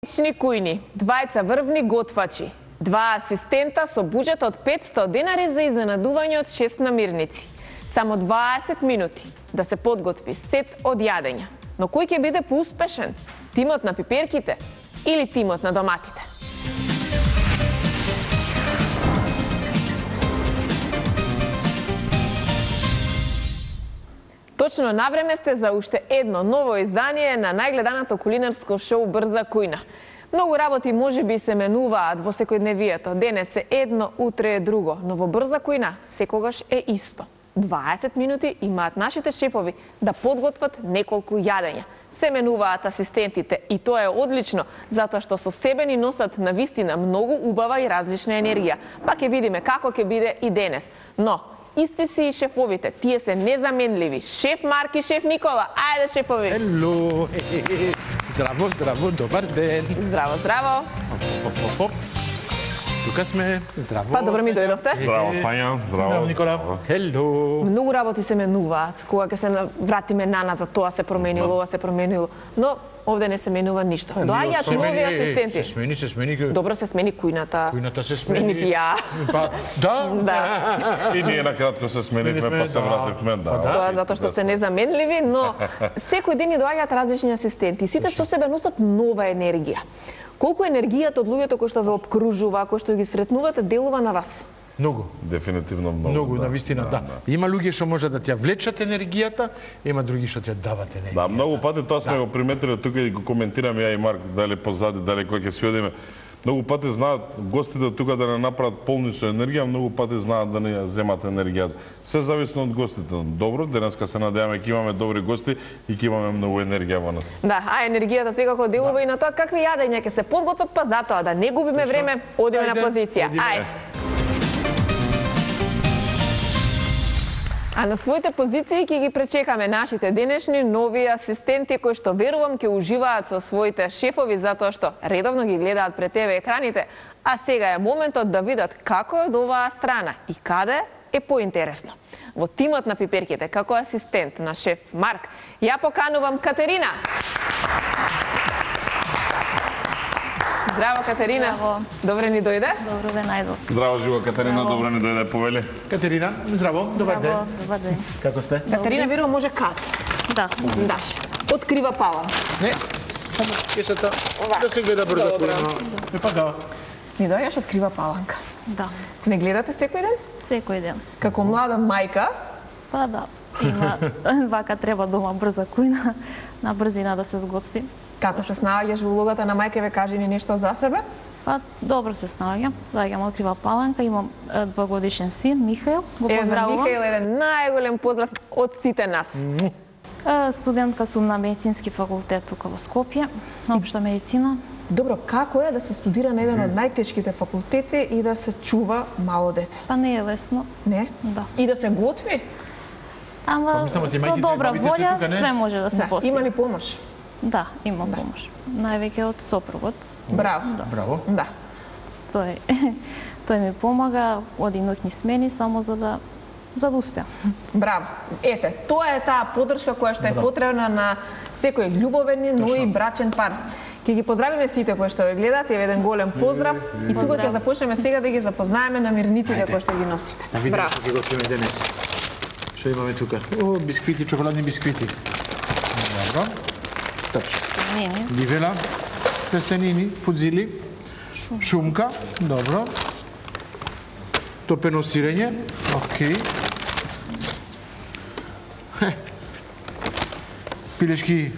Лични кујни, двајца врвни готвачи, два асистента со буџет од 500 денари за изненадување од 6 намирници. Само 20 минути да се подготви сет од јадења. Но кој ќе биде поуспешен? Тимот на пиперките или тимот на доматите? Точно на време сте за уште едно ново издание на најгледаното кулинарско шоу Брза кујна. Многу работи можеби се менуваат во секојдневието. Денес е едно, утре е друго, но во Брза кујна секогаш е исто. 20 минути имаат нашите шефови да подготват неколку јадења. Се менуваат асистентите и тоа е одлично, затоа што со себе ни носат навистина многу убава и различна енергија. Па ќе видиме како ќе биде и денес. Но исти си и шефовите, тие се незаменливи. Шеф Марк и шеф Никола. Ајде, шефови! Ело! Здраво, здраво, добар ден! Здраво, здраво! Тука сме, здраво! Па, добро ми дојдовте. Здраво, Сања, здраво. Здраво, Никола. Ело! Многу работи се менуваат. Кога ќе се вратиме наназад, тоа се променило, ова се променило. Но овде не се менува ништо. Доаѓаат нови асистенти. Се смени. Добро, се смени кујната. Кујната се смени. Сменив ја. Па, да. И ние накратко се сменивме, па се вративме, да. Тоа затоа што сте незаменливи, но секој ден ни доаѓаат различни асистенти. Сите со себе носат нова енергија. Колку енергијата од луѓето кои што ве обкружува, кои што ги сретнувате, делува на вас? Многу. Дефинитивно многу. Многу, навистина, да. Има луѓе што може да ти ја влечат енергијата, има други што ти ја дават енергија. Да, многу пати тоа сме го приметиле тука и го коментираме ја и Марк, дали позади, дали кој ќе си одиме. Многу пати знаат гостите тука да не направат полни со енергија, многу пати знаат да не ја земат енергијата. Се зависи од гостите. Добро, денеска се надеваме ќе имаме добри гости и ќе имаме многу енергија во нас. Да, а енергијата секако делува и на тоа какви јадења ќе се подготват, па затоа да не губиме време, одиме на позиција. Ајде. А на своите позиции ќе ги пречекаме нашите денешни нови асистенти кои што верувам ќе уживаат со своите шефови затоа што редовно ги гледаат пред ТВ екраните, а сега е моментот да видат како е од оваа страна и каде е поинтересно. Во тимот на пиперките како асистент на шеф Марк ја поканувам Катерина. Здраво, Катерина. Здраво. Добре ни дојде? Добро ве најдов. Здраво, живо, Катерина, добро ни дојде, повели. Катерина, здраво, добар ден. Добар ден. Како сте? Катерина верувам може кат. Да. Даш. Открива пала. Не. Само кесата да се гледа Брза кујна. Па да. Ни доаѓаш открива паланка. Да. Не гледате секој ден? Секој ден. Како млада мајка, Па да. Има вака треба дома брза кујна, на брзина да се сготви. како се снаоѓаш во улогата на мајка, ве кажи ни нешто за себе? Па добро се снаоѓам. Доаѓам открива паланка, имам 2-годишен син Михаил, го Е, за поздравувам. Михаил еден најголем поздрав од сите нас. Студентка сум на медицински факултет тука во Скопје, на општа медицина. Добро, како е да се студира на еден од најтешките факултети и да се чува мало дете? Па не е лесно. Не? Да. И да се готви? Ама мислам, со мајките, добра бабите се волја тука, не? све може да се Да. Има постигне. ли помош? Да, има помош. Највеќе од сопругот. Браво. Браво. Да. Тој ми помага, оди ноќни смени само за да успеам. Браво. Ете, тоа е таа поддршка која што е потребна на секој љубовен, но и брачен пар. Ќе ги поздравиме сите кои што ве гледаат, еве еден голем поздрав и тука ќе започнеме сега да ги запознаеме намирниците кои што ги носите. Да видиме Браво. што ќе готвиме денес. Што имаме тука? О, бисквити, чоколадни бисквити. Добро. Точно. Нени. Ливела, тесенини, фудзили, шумка, добро. Топено сирење, окей. Пилешки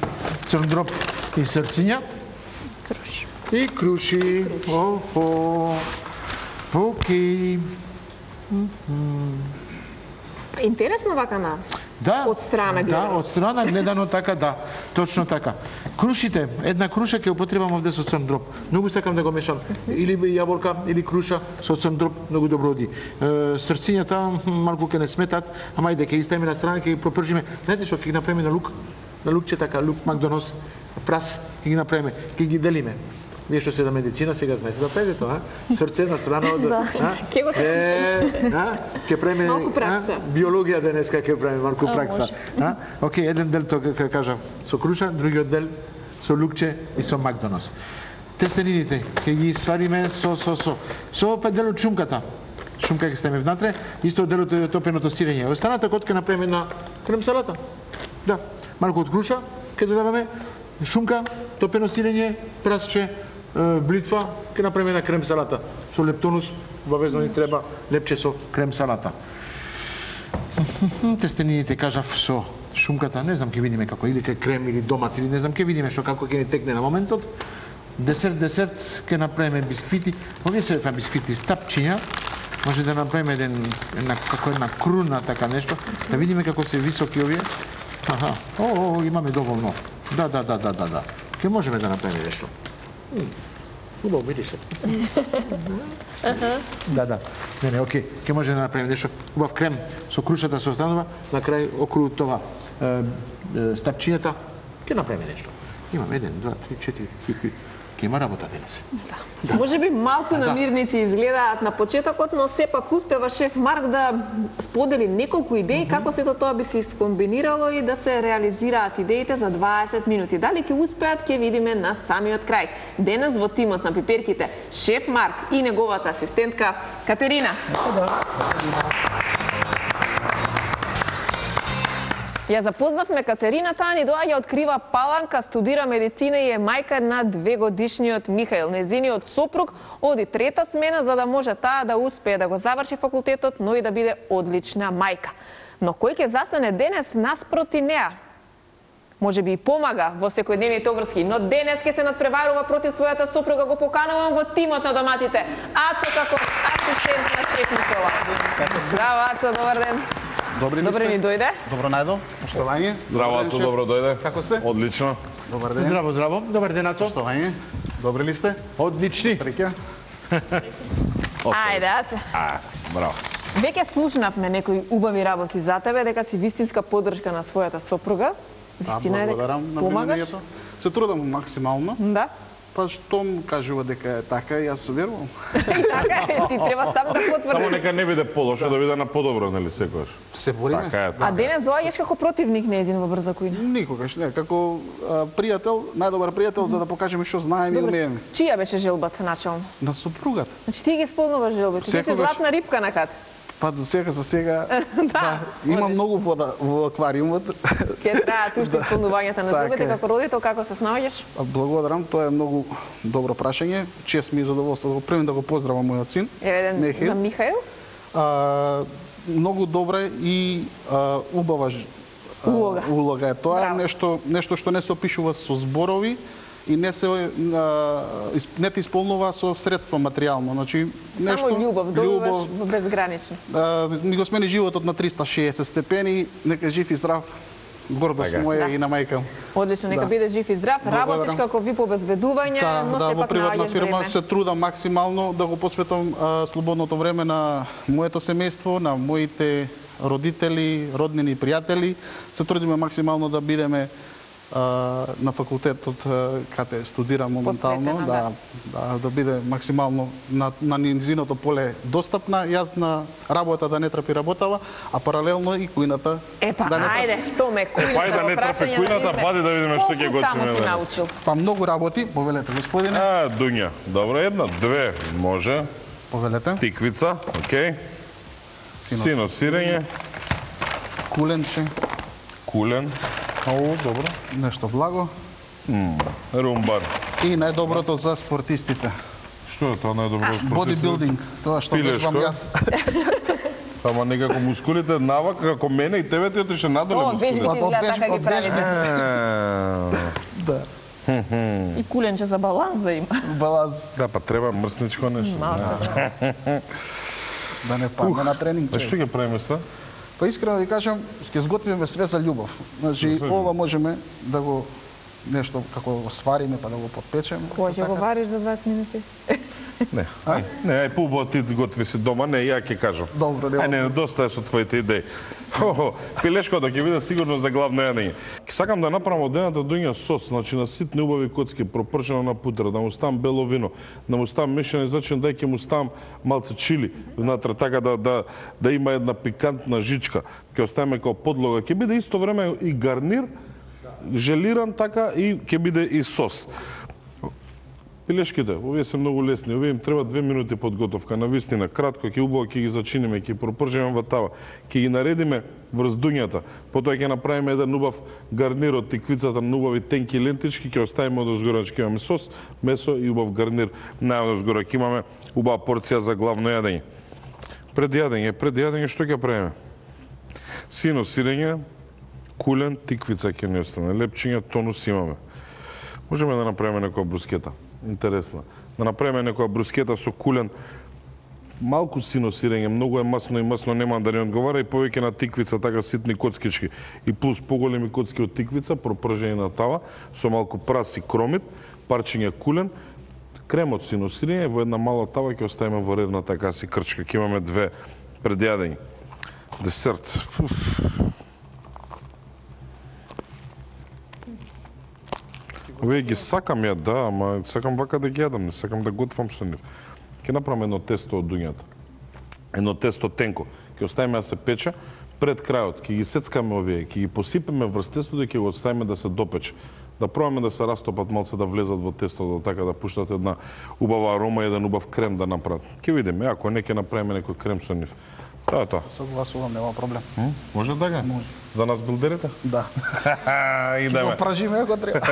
црн дроб и срциња. Круши. И круши. Охо. Окей. Интересно вака на Да. од страна Да, гледано. од страна гледано така, да. Точно така. Крушите, една круша ќе употребам овде со црн дроб. Многу сакам да го мешам. Или јаболка, или круша со црн дроб, многу добро оди. Срцињата малку ќе не сметат, ама ајде ќе ги ставиме на страна, ќе ги пропржиме. Знаете што ќе ги направиме на лук? На лукче така, лук Макдонос, прас, ќе ги направиме, ќе ги делиме. Вие што се на медицина, сега знаете да правите тоа, срце на страна од... Ке го се Ке правиме малку пракса. биологија денеска, ке правиме малку пракса. Океј, еден дел тоа кажа со круша, другиот дел со лукче и со Макдонос. Тестенините ќе ги свариме со опет дел од шумката. Шумка ќе ставиме внатре, исто дел од топеното сирење. Останата код ќе направиме на крем салата. Да, малку од круша ќе додаваме, шумка, топено сирење, прасче, блитва, ќе направиме на крем салата. Со лептонус, обавезно ни треба лепче со крем салата. Тестенините кажав со шумката, не знам ќе видиме како, или ке крем, или домат, или не знам, ќе видиме што како ќе ни текне на моментот. Десерт ќе направиме бисквити. Овие се бисквити стапчиња. Може да направиме една круна, така нешто, да видиме како се високи овие. Аха, имаме доволно. Да. Ке можеме да направиме нешто. Убаво, види се. Да. Не, окей. Ке можеме да направиме нешто. Убав крем со крушата со останува, на крај околу тоа стапчињата, ке направиме нешто. Имаме 1, 2, 3, 4. Има работа денес. Да. Може би малку намирници изгледаат на почетокот, но сепак успева шеф Марк да сподели неколку идеи како сето тоа би се искомбинирало и да се реализираат идеите за 20 минути. Дали ќе успеат, ќе видиме на самиот крај. Денес во тимот на Пиперките шеф Марк и неговата асистентка Катерина. Ја запознавме Катерина, таа ни доаѓа од Крива Паланка, студира медицина и е мајка на 2-годишниот Михаил. Незиниот сопруг оди трета смена за да може таа да успее да го заврши факултетот, но и да биде одлична мајка. Но кој ќе застане денес наспроти неа? Може би и помага во секојдневните обврски, но денес ќе се надпреварува против својата сопруга. Го поканувам во тимот на доматите. Ацо како асистент на шеф Никола. Здраво, Ацо, добар ден. Добри ни дојде. Добро најдо. Поштовање. Здраво, Ацо, добро дојде. Како сте? Одлично. Добар ден. Здраво. Добар ден, Ацо. Поштовање. Добри ли сте? Одлични. Среќа. Ајде, Аце. Браво. Веќе слушнавме некои убави работи за тебе, дека си вистинска поддршка на својата сопруга. Вистина е дека помагаш. Се трудам максимално. Да. Па штом кажува дека е така, јас верувам. И така е, ти треба сам да потврдиш. Само нека не биде полошо, да биде на подобро, нели секогаш. Се бориме. Така е. А денес доаѓаш како противник нејзин во Брза кујна? Никогаш не, како пријател, најдобар пријател за да покажеме што знаеме и умееме. Чија беше желбата начално? На сопругата. Значи ти ги исполнуваш желбите. Ти си златна рибка на кат. Па до сега за сега има многу вода во аквариумот. Ке траат уште исполнувањата на желбите како родител, како се снаоѓаш? Благодарам, тоа е многу добро прашање. Чест ми е задоволство да го примам, да го поздравам мојот син. Еве за Михаил. Многу добра и убава улога е тоа. Нешто што не се опишува со зборови и не те исполнува со средства материјално. Значи нешто само љубов, добиваш безгранично. Ми го смени животот на 360 степени, нека жив и здрав. Гордост моја и на мајка. Одлично, нека биде жив и здрав. Работиш како ви по обезведување, но сепак во приватна наоѓаш фирма време. се трудам максимално да го посветам слободното време на моето семејство, на моите родители, роднини и пријатели. Се трудиме максимално да бидеме на факултетот каде студирам моментално, да биде максимално на низиното поле достапна. Јас на работа да не трпи работава, а паралелно и кујната да не трпи. Ајде, што ме кујната? Ајде да не трпи кујната, пади да видиме што ќе готвиме денес. Па многу работи, повелете господине. Дуња, добро, 1, 2, може. Повелете. Тиквица, окей. Сино сирење. Куленче. Кулен. Добро. Нешто благо. Румбар. И најдоброто за спортистите. Што е тоа најдобро за спортистите? Бодибилдинг. Тоа што вежбам јас. Ама некако мускулите навак, како мене и тебе ти отише надоле мускулите. Вежбите изгледа така ги правите. Да. И куленче за баланс да има. Баланс. Да, па треба мрсничко нешто. Да не падне на тренинг. Што ќе правиме са? Па искрено ви кажам, ќе сготвиме све за љубов. Значи, ова можеме да го нешто како го свариме па да го подпечеме. Кој ќе го вариш за 20 минути? Не, ај пубо ти готви си дома, не, ја ќе кажам. Добро, не, доста е со твоите идеи. Пилешкото ќе биде сигурно за главно јадење. Сакам да направам од едната дуња сос, значи на ситни убави коцки, пропршено на путра, да му ставам бело вино, да му ставам мешани зачин, да ќе му ставам малце чили внатре, така да има една пикантна жичка. Ќе оставиме како подлога, ќе биде исто време и гарнир, желиран така и ќе биде и сос. Белешките, овие се многу лесни, овие им треба 2 минути подготовка, навистина, кратко, ќе убаво ќе ги зачиниме, ќе пропржиме во тава, ќе ги наредиме врз дуњата, потоа ќе направиме еден убав гарнир од тиквицата на убави тенки лентички, ќе оставиме од озгора, ќе имаме сос, месо и убав гарнир, најод озгора ќе имаме убава порција за главно јадење. Пред јадење што ќе правиме? Сино сирење, кулен, тиквица ќе ни остане, лепчиња, тонус имаме. Можеме да направиме некоја брускета. Интересно. Да направиме некоја брускета со кулен, малку сино сирење, многу е масно и масно нема да ни одговара и повеќе на тиквица, така ситни коцкички и плюс поголеми коцки од тиквица, пропржени на тава, со малку прас и кромит, парчиња кулен, кремот сино сирење, во една мала тава ќе оставиме во редна така си крчка. Ќе имаме 2 пред јадење. Десерт. Овие ги сакам ја, да, ама сакам вака да ги јадам, не сакам да готвам со нив. Ќе направам едно тесто од дуњата. Едно тесто тенко. Ќе оставиме да се пече, пред крајот ќе ги сецкаме овие, ќе ги посипеме врз тестото и ќе го оставиме да се допече. Да пробаме да се растопат малце, да влезат во тестото, така да пуштат една убава арома и еден убав крем да направат. Ќе видиме, ако не ќе направиме некој крем со нив. Тоа е тоа. Согласувам, нема проблем. Може така? Може. За нас билдерите? Да. Идеме. Го пражиме ако треба.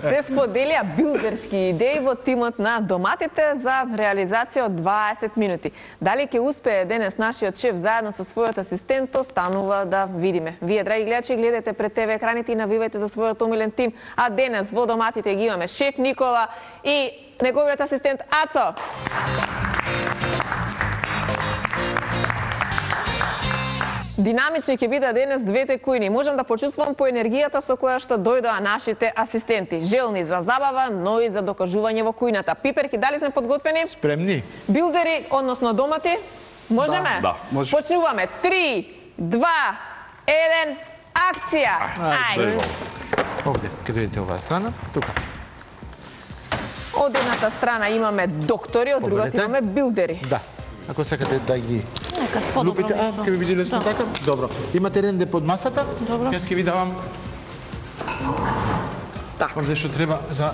Се споделија билдерски идеи во тимот на доматите за реализација од 20 минути. Дали ќе успее денес нашиот шеф заедно со својот асистент, останува да видиме. Вие, драги гледачи, гледате пред ТВ екраните и навивајте за својот омилен тим. А денес во доматите ги имаме шеф Никола и неговиот асистент Ацо. Динамични ќе бидат денес двете кујни. Можам да почувствувам по енергијата со која што дојдоа нашите асистенти. Желни за забава, но и за докажување во кујната. Пиперки, дали сме подготвени? Спремни. Билдери, односно домати? Можеме? Да, може. Почнуваме. 3, 2, 1, акција! Ајде. Овде, ќе дојдете оваа страна, тука. Од едната страна имаме доктори, од другата Погледнете. имаме билдери. Да. Ако сакате да ги Нека сподобро лупите, месо. ќе ви биде лесно Да. така? Добро. Имате ренде под масата? Добро. Јас ќе ви давам Така. овде што треба за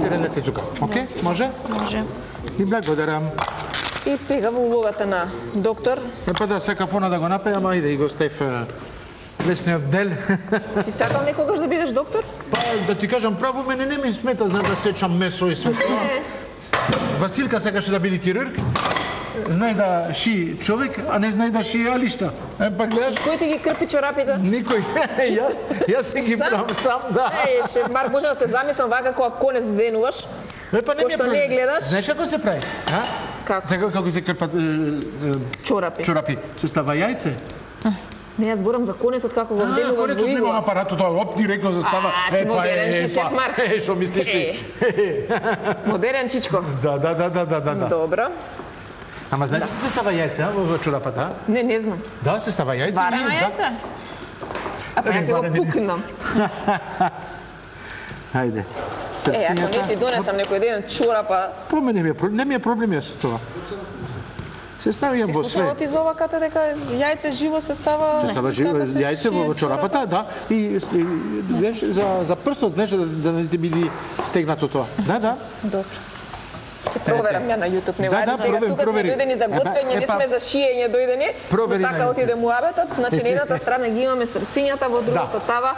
рендете тука. Окей? Може? Може. И благодарам. И сега во улогата на доктор, Па да, сакав она да го направи, ама иде и го ставив лесниот дел. си сакал некогаш да бидеш доктор? Па да ти кажам право, мене не ми смета, знам да сечам месо и све. Василка сакаше да биде хирург. Знае да ши човек, а не знае да ши алишта. Па гледаш, Кој ти ги крпи чорапите? никој. Јас се ги Сам? правам сам, да. Шеф Марк, може да те замислам вака кога конец денуваш? Па не ми е Пошто проблем. не гледаш? Знаеш како се прави? А? Како? Сега како се крпат Чорапи. чорапи? Се става јајце. Не, јас зборам за конецот како го денуваш во Конецот нема игла. апаратот, оп, директно застава. Ти модерен си, шеф Марк. Што мислиш ти? Модерен чичко. Да. Добро. Ама знаеш ли се става јајце во чорапата? Не знам. Да, се става јајце. Варено да. јајце? А па ја ќе го пукнам. Хајде. Ако не ти донесам некој ден чорапа, По мене не ми е проблем јас тоа. Се ставиам си во све. слушала ти за ова ката дека јајце живо се става... Се става јајце во чорапата, да. И знаеш, за прстот, знаеш, да не ти биде стегнато тоа. Да. Добро. Се проверам ја на YouTube, не Да, ајде сега тука сме провери. дојдени за готвење, не сме за шиење дојдени. Провери Но така на отиде муабетот, значи на едната страна ги имаме срцињата, во другата тава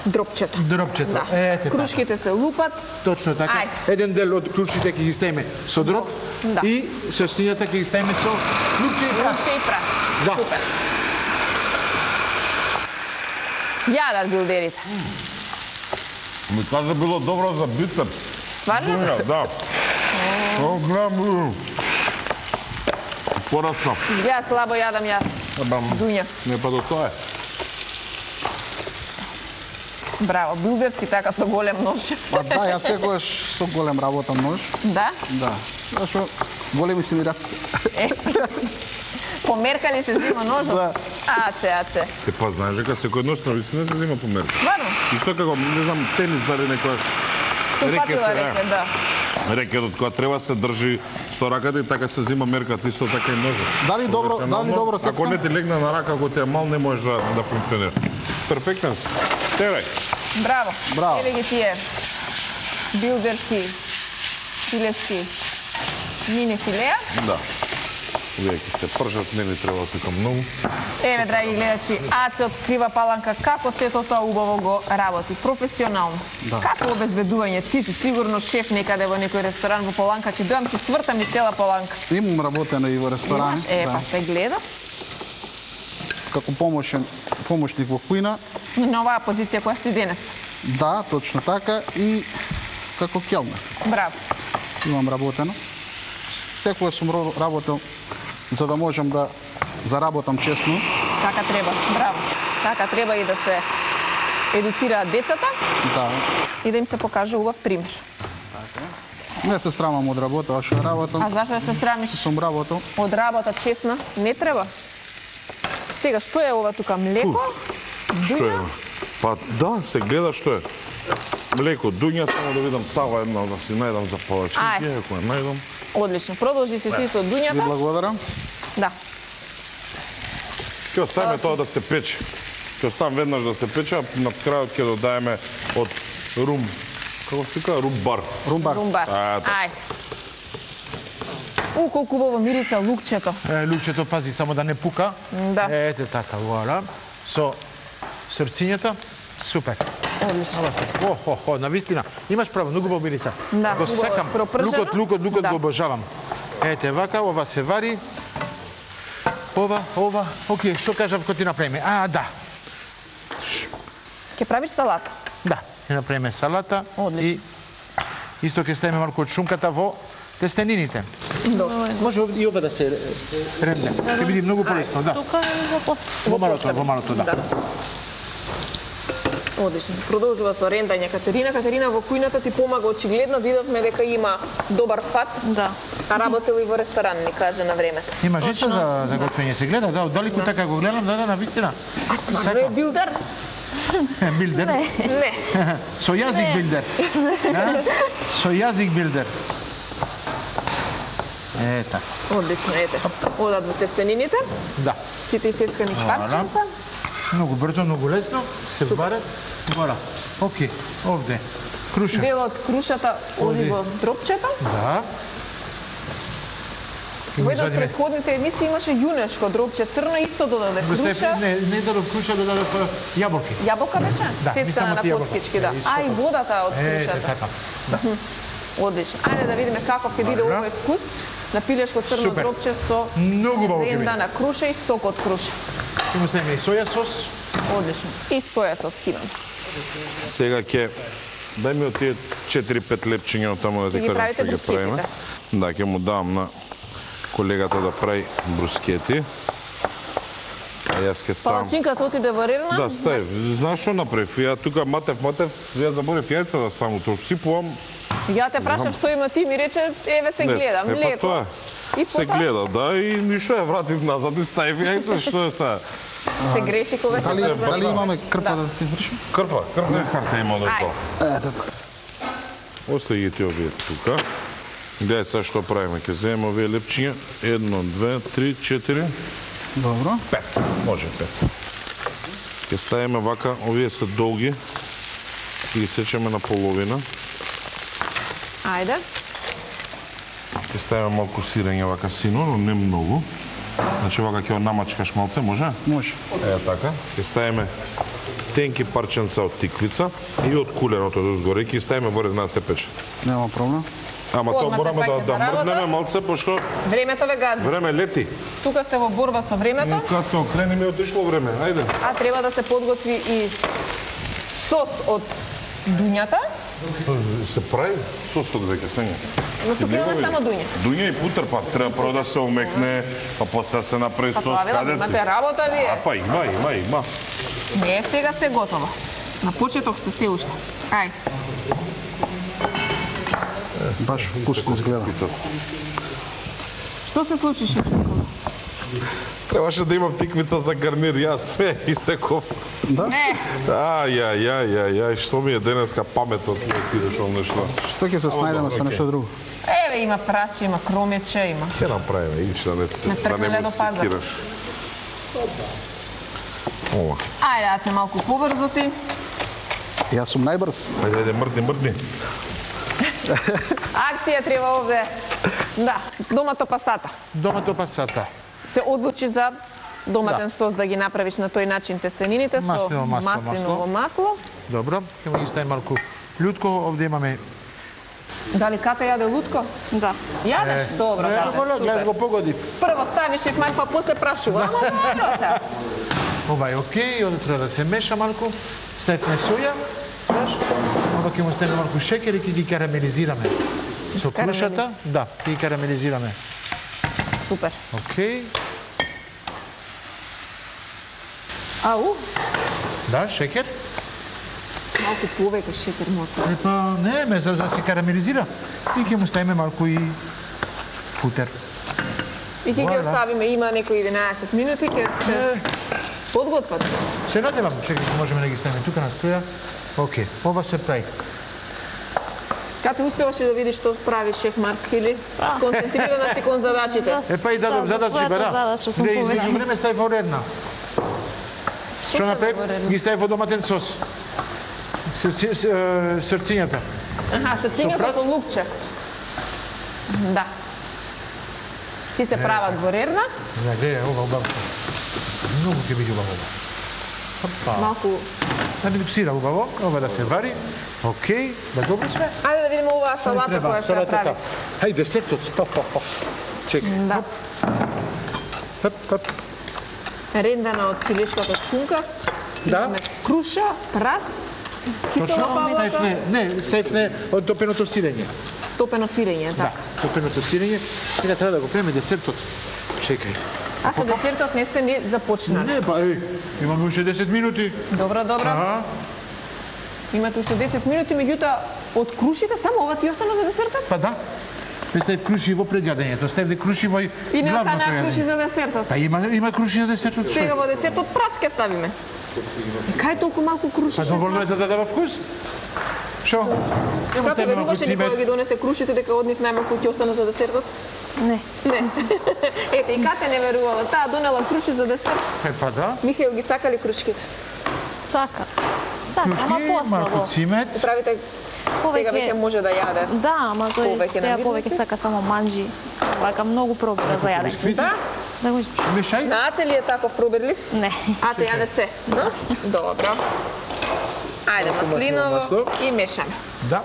дропчето. Дропчето. Да. Ете така. Крушките се лупат. Точно така. Ајде. Еден дел од крушите ќе ги ставиме со дроп Да. и срцињата ќе ги ставиме со лупче и прас. Лупче и прас. Да. Супер. Јадат билдерите. Ми кажа било добро за бицепс. Стварно? Дуња, да. О, грам. Порасна. Ја слабо јадам јас. Дуња. Не па до тоа е. Браво, билдерски така со голем нож. Па да, јас секогаш со голем работам нож. Да? Да. Зашо големи се ми раците. Померкани се зима ножот. Да. Аце. Те па знаеш дека секој нос на висина се зема померка. Стварно? Исто како, не знам, тенис дали некој Упатила рекет, да. Рекетот кога треба се држи со раката и така се зима меркат, исто така и ножот. Дали добро Ако сецкам? не ти легне на рака, ако ти е мал, не можеш да функционира. Перфектен си. Терай. Браво. Браво. Еве ги тие билдерски филешки мини филеа. Да. Овие ќе се пржат, не ни треба тука многу. Еве, драги гледачи, Аце открива Паланка како сето тоа убаво го работи, професионално. Да. Како обезбедување? Ти си сигурно шеф некаде во некој ресторан во Паланка, ќе дојам ти свртам и цела Паланка. Имам работено и во ресторани. Имаш? Па се гледа. Како помошник во кујна. На оваа позиција која си денес. Да, точно така. И како келнер. Браво. Имам работено. Секогаш сум работел за да можам да заработам честно. Така треба, браво. Така треба и да се едуцираат децата. Да. И да им се покаже убав пример. Не се срамам од работа, што работам. А зашто да се срамиш? Сум работел. Од работа честна не треба. Сега, што е ова тука? Млеко? Што е? Дуња? Па да, се гледа што е. Млеко, дуња, само да видам тава една да си најдам за повеќе. Ај. Ако ја најдам. Одлично. Продолжи се си со Ви дуњата. благодарам. Да. Ќе оставиме тоа да се пече. Ќе оставам веднаш да се пече, а на крајот ќе додаеме од рум. Како се вика? Румбар. Румбар. Румбар. така. Ај. Колку убаво мириса лукчето. Лукчето, пази, само да не пука. Да. Ете така, вуаля. Со срцињата, супер. Одлично. Ова се. О, навистина. Имаш право, многу убаво мириса. Да, го убаво сакам. пропржено. Лукот Да. го обожавам. Ете вака, ова се вари. Ова, окей, што кажав кога ти направиме? Да. Ќе правиш салата. Да, ќе направиме салата. Одлично. И исто ќе ставиме малку од шунката во тестенините. Добро. Може и ова да се ремне. Ќе биде многу полесно, да. Тука и во после. Во малото, да. Одлично. Продолжува со рендање Катерина. Катерина, во кујната ти помага очигледно. Видовме дека има добар фат. Да. А работел и во ресторан, ни каже на времето. Има жица за готвење, се гледа, да, оддалеку така го гледам, да, навистина. А стварно е билдер? Билдер. Не. Со јазик билдер. Да? Со јазик билдер. Ета, Одлично, ете. Одат во тестенините. да. Сите исецкани парченца. Многу брзо, многу лесно, се варат. Вора. Окей, овде. Круша. Дел од крушата оди во дропчето. Да. Во една од предходните емисии имаше јунешко дропче црно, исто додаде круша. Не дадов круша, дадов јаболки. Јаболка беше? Да, Сецкана мислам на од јаболка. коткички, да. Исто А и водата од Ете, крушата. така. Да. Одлично. Ајде да видиме каков ќе биде Добро. овој вкус на пилешко црно Супер. дропче со Многу убаво ќе ренда биде. на круша и сок од круша. Ќе му ставиме и соја сос. Одлично. И соја сос кинам. Сега ќе дај ми од тие 4-5 лепчиња од таму да ти Ќе ги кажам правите што ги брускетите? правиме. Да, ќе му дам на колегата да прави брускети. А јас ќе ставам. Палачинката отиде во рерна. Да, стај. Знаеш што направив? Ја тука матев, ја заборев јајца да ставам утре. Сипувам. Ја те прашав што има ти, ми рече, еве се гледа, Па млеко. тоа. И Се потоа гледа, да, и ништо ја вратив назад и ставив јајца, што е сега? се греши кога се Дали имаме крпа Да. да се изврши? Крпа карта има до тоа. Ете така. Остави ги ти овие тука. Гледај сега што правиме. Ќе земеме овие лепчиња. 1, 2, 3, 4, Добро. 5. Може 5. Ќе ставиме вака, овие се долги. Ќе ги сечеме на половина. Ајде. Ќе ставиме малку сирење вака сино, но не многу. Значи вака ќе намачкаш малце, може? Може. Е така. Ќе ставиме тенки парченца од тиквица и од куленото дозгоре. Ќе ставиме во ред на да се пече. Нема проблем. Ама тоа Одма се мораме паќе за да работа. мрднеме малце, пошто Времето ве гази. време лети. Тука сте во борба со времето, Кога се окрени ми отишло време. Ајде. а треба да се подготви и сос од дуњата, Се прави сосот веќе сега. но тука имаме само дуње. Дуња и путер, па треба прво да се омекне, па после се направи Па сос тоа велам, каде. имате работа вие. Па има. Не е сега се готово. На почеток сте се уште. Ај, Баш вкусно изгледа. Пицата. што се случи шеф? Требаше да имам тиквица за гарнир, јас све исеков. Не, Ај, што ми е денеска паметот, не отидеш ол нешто. Што ќе се снајдеме со нешто друго? еве има праче, има кромече, има. Ќе направиме, ич да не се, Не да не тркнеле му до пазар. секираш. Ова. Ајде, да се малку побрзо ти. Јас сум најбрз. Ајде, мрдни. Акција треба овде. Да, домато пасата. Домато пасата. Се одлучи за доматен сос да ги направиш на тој начин тестенините со маслиново масло. Добро, ќе ги ставим малку лутко, овде имаме. Дали Ката јаде лутко? Да. Јадеш? Добро, Ката. Гледа го погоди. Прво ставиш шеф Марк, па после прашува. Ама добро се. Ова е окей, овде треба да се меша малку. Ставивме соја, знаеш? Ова ќе му ставиме малку шекер и ќе ги карамелизираме. Со крушата, да, ќе ги карамелизираме. Супер. Окей. Ау, Да, шекер. малку повеќе шекер моето. Епа, не, за да се карамелизира. И ќе му ставиме малку и футер. И ќе ги оставиме, има некои 11 минути, ќе се подготват. Се надевам, чекай, можеме да ги ставиме тука на струја. Окей, ова се прави. Кате успеваше да видиш што прави шеф Марк или сконцентрирана си кон задачите? Епа и дадов задачи, бара. Задача сум Да измеѓу поведена. време стави во редна. Што направи? Ги стави во доматен сос. Срцињата. Аха, срцињата прас? со лукче. Да. Си се прават во рерна, Да, гледа, ова убаво. Многу ќе биде убаво. Опа. малку. Да миксира убаво, ова да се вари. Окей, да добри сме. Ајде да видиме оваа салата која што ја прави. Хај, десертот. Чекай. Да. Хоп, хоп. Рендана од пилешката шунка. Да. Имаме круша, прас, кисела павлака, Ставивме, не, ставивме од топеното сирење. топено сирење, Да, така. топеното сирење. Сега треба да го преме десертот. Чекај. А со десертот не сте ни започнали. Не, па, имаме уште 10 минути. Добро, добро. А? Имате уште 10 минути, меѓутоа од крушите само ова ти остана за десертот? Па да. Ме ставив круши во предјадењето, ставив круши во И не главното остана круши јадење. за десертот. Па има круши за десертот. Сега во десертот прас ке ставиме. Кај толку малку круши? Па доволно е за да дава вкус. Шо? Нема Како ставиме малку веруваше ни кога цимет. ги донесе крушите дека од нив најмалку ќе остана за десертот? Не. Не. Ете, и Кате не верувала. Таа донела круши за десерт. Па да. Михаил ги сакали крушките. Сака. Сака, ама Крушки, малку послабо. цимет. Правите сега веќе може да јаде. Да, ама тој Повеќе сега намирници? повеќе сака само манџи. Вака многу пробира за јадење. Да? Да го испуши. Мешај. На Аце ли е таков пробирлив? Не. Аце јаде се. Да? Добро. Ајде, маслиново масло. и мешаме. Да.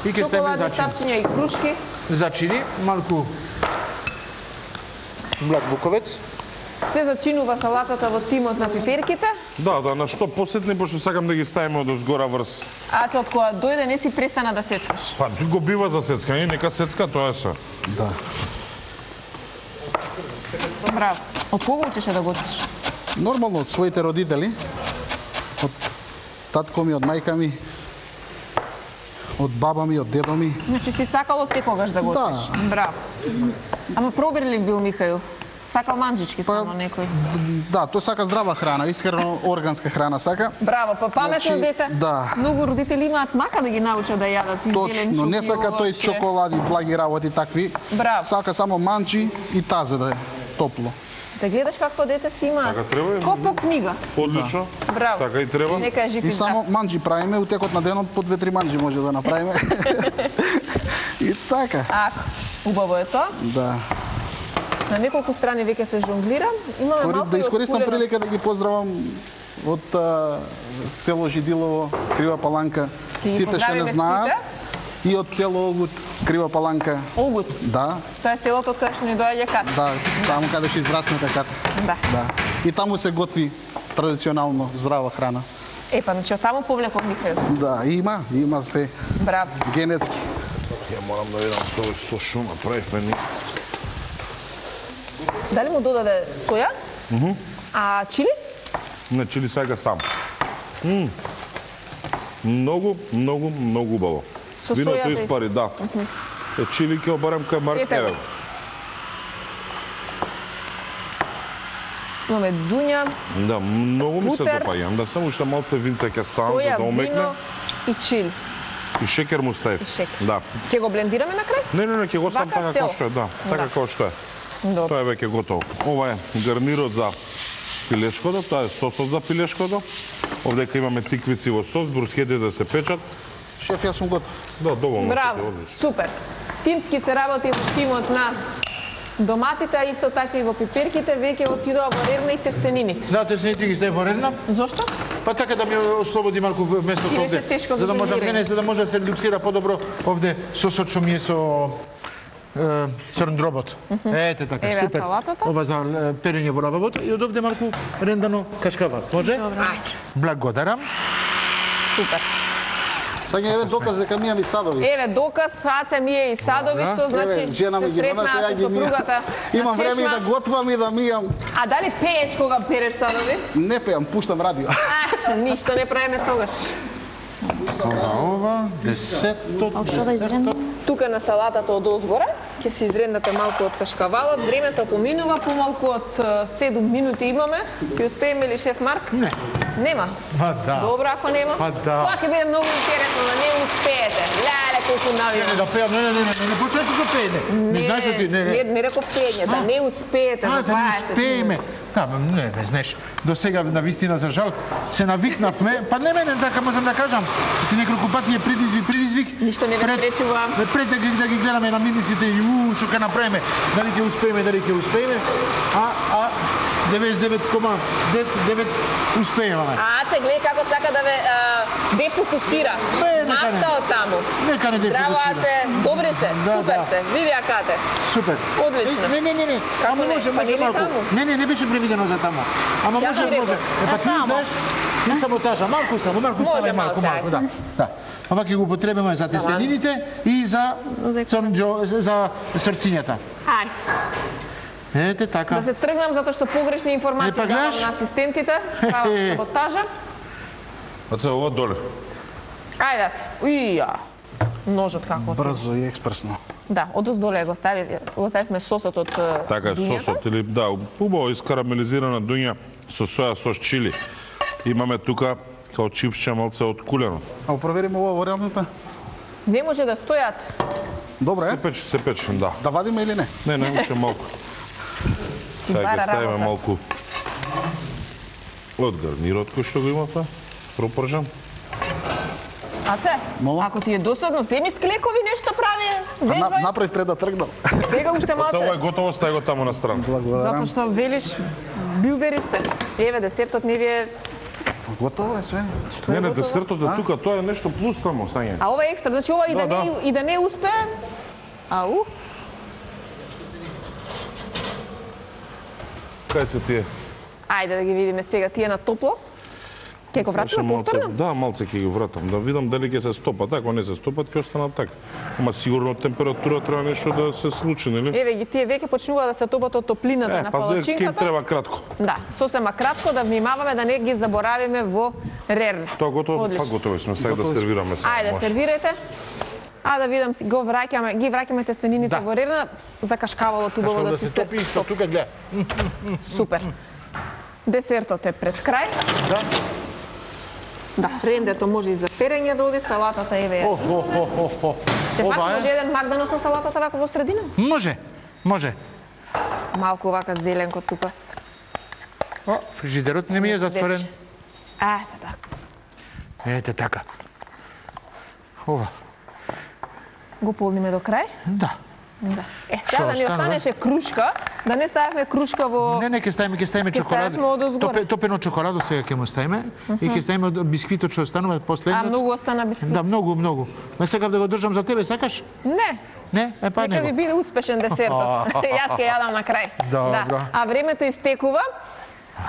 И ќе ставиме Шоколадни зачини. тапчиња и крушки. Зачини, малку млад буковец. Се зачинува салатата во тимот на пиперките. Да, на што посетни, пошто сакам да ги ставиме од озгора врз. Аце од која дојде не си престана да сецкаш. Па, го бива за сецкање, нека сецка, тоа е се. Да. Браво. Од кого учеше да го учиш? Нормално од своите родители, од татко ми, од мајка ми, од баба ми, од дедо ми. Значи си сакал од секогаш да го Да. учиш. Браво. Ама пробирлив бил Михаил. Сакал манџички само некој. Да, тој сака здрава храна, искрено органска храна сака. Браво, па паметно Значи, дете. да. Многу родители имаат мака да ги научат да јадат и зеленчуки. Точно, не сака тој овошје. чоколади, благи работи такви. Браво. Сака само манџи и тазе да е топло. Да гледаш какво дете си има. Така треба, Ко по книга. Одлично. Браво. Така и треба. Нека е жив И и здрав. само манџи правиме, у текот на денот по 2-3 манџи може да направиме. И така. Ако, убаво е тоа. Да. На неколку страни веќе се жонглира. Имаме малку Да и искористам откурено. прилика да ги поздравам од село Жидилово, Крива Паланка. Ти ги Сите што не поздравиме знаат. сите. И од село Огут, Крива Паланка. Огут. Да, Тоа е селото од каде што ни доаѓа Ката. да, таму каде што израсната Ката. Да. Да. И таму се готви традиционално здрава храна. Епа, значи од таму повлеков Михаил. Да, има се Браво. генетски. Ја морам да видам со овој со шо направивме ни. Дали му додаде соја? А чили? Не, чили сега сам. Многу, многу, многу убаво. Со Виното сојата испари, да. Е, чили ќе обарам кај Марк. Ете го. Еве. Имаме дуња, Да, многу ми се Мутер. допаѓа. Да само уште малце винце ќе ставам за соја, да омекне. вино и чили. И шекер му ставив. И шекер. Да. Ќе го блендираме на крај? Не, ќе го ставам Вака така цел? како што е, да. Така Да. како што е. Добро. Тоа е веќе готово. Ова е гарнирот за пилешкото, тоа е сосот за пилешкото. Овдека имаме тиквици во сос, брускетите да се печат, Шеф, јас сум готов. Да, доволно Браво, сте, одлично. супер. Тимски се работи во тимот на доматите, а исто така и во пиперките, веќе отидоа во рерна и тестенините. Да, тестените ги стави во рерна, Зошто? па така да ми ослободи малку местото Ти беше овде. тешко За да за може жонглирање. за да може да се редуцира подобро овде сосот што ми е со црн дробот. Ете така, Еве супер. салатата. Ова за перење во лававото и од овде малку рендано кашкават. Може? Ајде, Благодарам. супер. Сега еве доказ дека ми имам и садови. Еве доказ, Аце мие и садови, што значи Еве, жена ми се ги донесе, сретнаа ја со ги мијам. сопругата Имам на време и чешма. да готвам и да мијам. А дали пееш кога переш садови? Не пеам, пуштам радио. Ништо не правиме тогаш. Ова, десетто. Што да изрендам? Тука на салатата од озгора, ќе се изрендате малку од кашкавалот, времето поминува, помалку од 7 минути имаме. Ќе успееме ли, шеф Марк? Не. Нема? Па да. Добро, ако нема. Па да. Тоа ќе биде многу интересно, да не успеете. Леле, колку Не, навивам. да пеам, не почнете со пеење. Не знаеш да ти, не реков пење, да не успеете за да не 20 успееме. минути. Да, не знаеш. До сега на вистина за жал се навикнавме, па не мене така можам да кажам. Ти неколку пати е предизвик. Ништо не ве спречува. Пред да ги гледаме на миниците и што ќе направиме, дали ќе успееме, а 99,9 успееваме. Аце, гледај како сака да ве дефокусира. Нека не. Мапта од таму. Нека не Браво, дефокусира. Аце, добри се, Да, супер да. се. Види акате. Супер. Одлично. Не. Како Ама не? може Па нели малку. таму? Не беше предвидено за таму. Ама Јас ви може. реков. Па ти само. знаеш, не саботажа, малку Може ставај малце, малку, да. Да. Ова ќе го употребиме за тестенините и за за срцињата. Ајде. Ете така. Да се тргнам затоа што погрешни информации Не, па давам гледаш? на асистентите. Право саботажа. Аце, ова доле. Ајде, Аце. Уија. Ножот како. Брзо и експресно. Да, одоздоле го ставивме сосот од Така е, дуњата. сосот или да, убаво искарамелизирана дуња со соја сос чили. Имаме тука као чипсче малце од кулено. А провериме ова варијантата. Не може да стојат. Добро е. Се пече, да. Да вадиме или не? Не може малку. Сега бара ќе ставиме работа. малку од гарнирот кој што го има тоа, пропржан. Аце, Мола? ако ти е досадно, земи склекови нешто прави. Вежбај. Направив пред да тргнам. Сега уште Ова е малце. готово, стај го таму на страна. Затоа Благодарам. што велиш билдери сте. Еве десертот не ви е. Готово е све. Што е Не, готово? десертот е тука, тоа е нешто плюс само, сање. А ова е екстра, значи ова и да не успее. Ау. Кај се тие? Ајде да ги видиме сега тие на топло. Ке го вратиме повторно? Да, малце ќе ги вратам, да видам дали ќе се стопат. Ако не се стопат, ќе останат така. Ама сигурно температура треба нешто да се случи, нели? Еве ги тие веќе почнува да се топат од топлината на Па ќе палачинката. треба кратко. Да, сосема кратко да внимаваме да не ги заборавиме во рерна. Тоа готово, па Одлично. готови сме, сега да сервираме само. Ајде, може. сервирајте. А да видам, ги враќаме тестенините Да. во рерна, за кашкавалот убаво Кашкав да да си се топи исто, стоп. тука гледа. Супер. Десертот е пред крај. Да. Да, рендето може и за перење да оди, салатата еве е. Шефак, Ова може е. еден мак да носна салатата вака во средина? Може. Малку вака зеленко тука. О, фрижидерот не ми е затворен. Вече. Ете така. Ете така. Ова. Го полниме до крај? Да. Да. Сега Што да ни останува? останеше крушка, да не ставиме крушка во... Не, ќе ставиме Ќе чоколадо. ставиме одозгоре. Топено чоколадо сега ќе му ставиме и ќе ставиме од бисквитот што останува А последно. многу остана бисквит. Да, многу. Ме сакав да го држам за тебе, сакаш? Не, Не? Е, па нека ви него. биде успешен десертот. Јас ќе јадам на крај. Добро. Да. А времето истекува.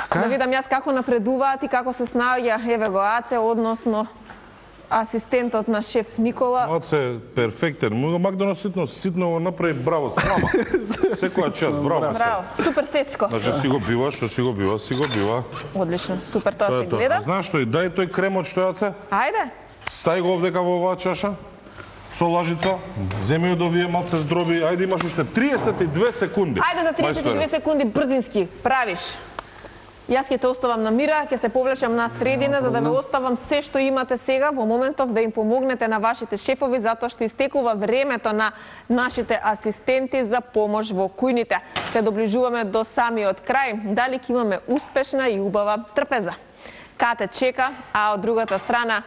Така? Да видам јас како напредуваат и како се снаоѓа еве го Аце, односно асистентот на шеф Никола. Малце перфектен. Мак да ситно го направи браво, слама. Секоја час, браво. Браво, супер сецко. Значи си го бива, што си го бива. Одлично, супер, тоа Тоа се е тоа. гледа. Знаеш што, дај тој кремот што јаце, Ајде. стај го овдека во оваа чаша, со лажица, земи од овие малце здроби, ајде имаш уште 32 секунди. Ајде за 32 секунди брзински, правиш. Јас ќе те оставам на мира, ќе се повлечам на средина за да ве оставам се што имате сега во моментов да им помогнете на вашите шефови затоа што истекува времето на нашите асистенти за помош во кујните. Се доближуваме до самиот крај. Дали ќе имаме успешна и убава трпеза? Кате чека, а од другата страна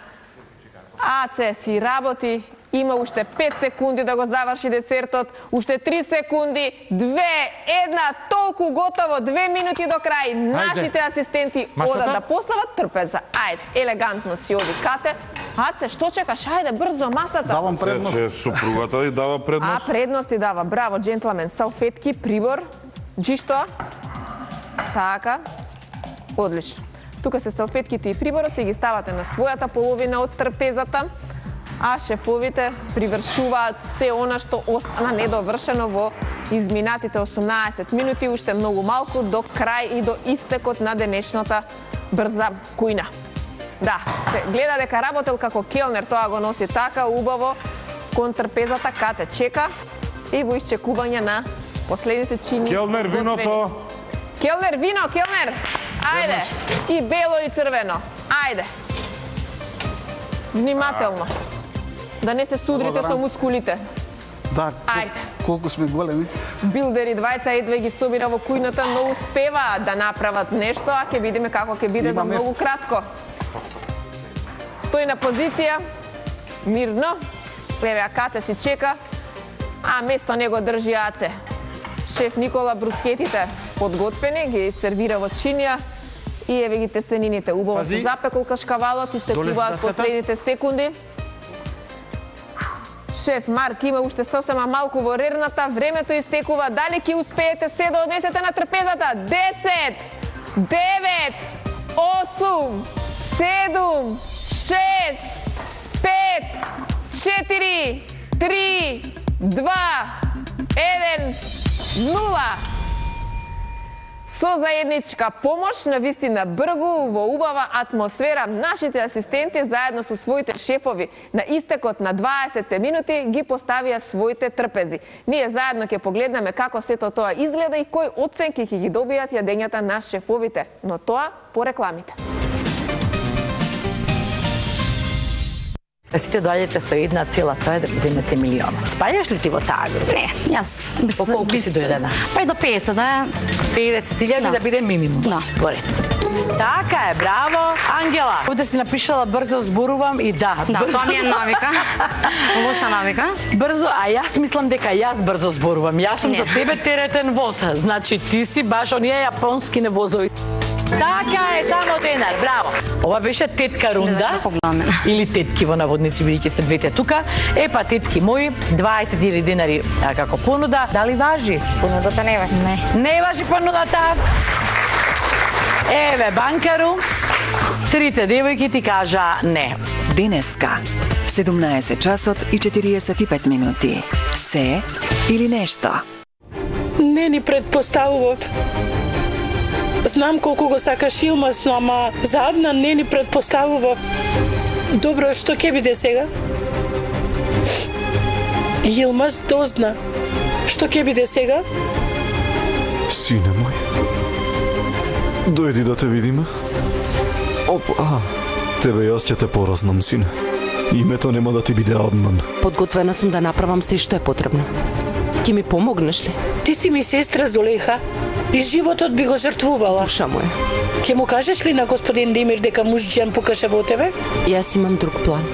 Аце си работи, има уште 5 секунди да го заврши десертот, уште 3 секунди, 2, 1, толку готово, 2 минути до крај. Нашите асистенти одат да постават трпеза. Ајде, елегантно си оди Кате. Аце, што чекаш? Ајде, брзо, масата. Давам предност. Че супругата и дава предност. Предност ти дава. Браво, джентлмен. Салфетки, прибор, джишто. Така. Одлично. Тука се салфетките и приборот, си ги ставате на својата половина од трпезата, а шефовите привршуваат се она што остана недовршено во изминатите 18 минути, уште многу малку до крај и до истекот на денешната брза кујна. Да, се гледа дека работел како келнер, тоа го носи така убаво кон трпезата. Кате чека и во исчекување на последните чини. Келнер, виното! Келнер, вино, келнер! Ајде! И бело и црвено. Ајде! Внимателно. Да не се судрите со мускулите. Да, Ајде. колку сме големи. Билдери двајца едва ги собира во кујната, но успеваат да направат нешто, а ќе видиме како ќе биде за многу кратко. Стои на позиција, мирно. Еве, Кате си чека, а место него држи Аце. Шеф Никола брускетите подготвени, ги сервира во чинија и еве ги тестенините. Убаво се запекол кашкавалот, истекуваат последните секунди. Шеф Марк има уште сосема малку во рерната, времето истекува. Дали ќе успеете се да однесете на трпезата? 10, 9, 8, 7, 6, 5, 4, 3, 2, 1, 0. Со заедничка помош, на вистина бргу, во убава атмосфера, нашите асистенти заедно со своите шефови на истекот на 20 минути ги поставија своите трпези. Ние заедно ќе погледнеме како сето тоа изгледа и кои оценки ќе ги добијат јадењата на шефовите, но тоа по рекламите. Сите доаѓате со една цела, тоа е да земете милиона. Спаѓаш ли ти во таа група? Не, јас По колку си дојдена? Па и до 50, да. 50.000 да биде минимум. Да. Поред. Така е, браво, Ангела. Овде си напишала брзо зборувам и да. Да, брзо... тоа ми е навика. Лоша навика. Брзо, а јас мислам дека јас брзо зборувам. Јас сум за тебе теретен воз. Значи ти си баш оние јапонски невозови. Така е, само денар, браво. Ова беше тетка рунда, или тетки во наводници, бидејќи се двете тука. Епа, тетки мои, 20.000 денари како понуда. Дали важи? Понудата не важи. Не важи понудата. Еве, банкару, трите девојки ти кажа не. Денеска, 17 часот и 45 минути. Се или нешто? Не ни предпоставував. Знам колку го сакаш Илмаз, но ама заадна не ни предпоставував. Добро, што ќе биде сега? Илмаз дозна. Што ќе биде сега? Сине мој, дојди да те видиме. Опа, тебе јас ќе те поразнам, сине. Името нема да ти биде Аднан. Подготвена сум да направам се што е потребно. Ќе ми помогнеш ли? Ти си ми сестра Зулейха и животот би го жртвувала. Душа моја. Ќе му кажеш ли на господин Демир дека Мужџан покаже во тебе? Јас имам друг план.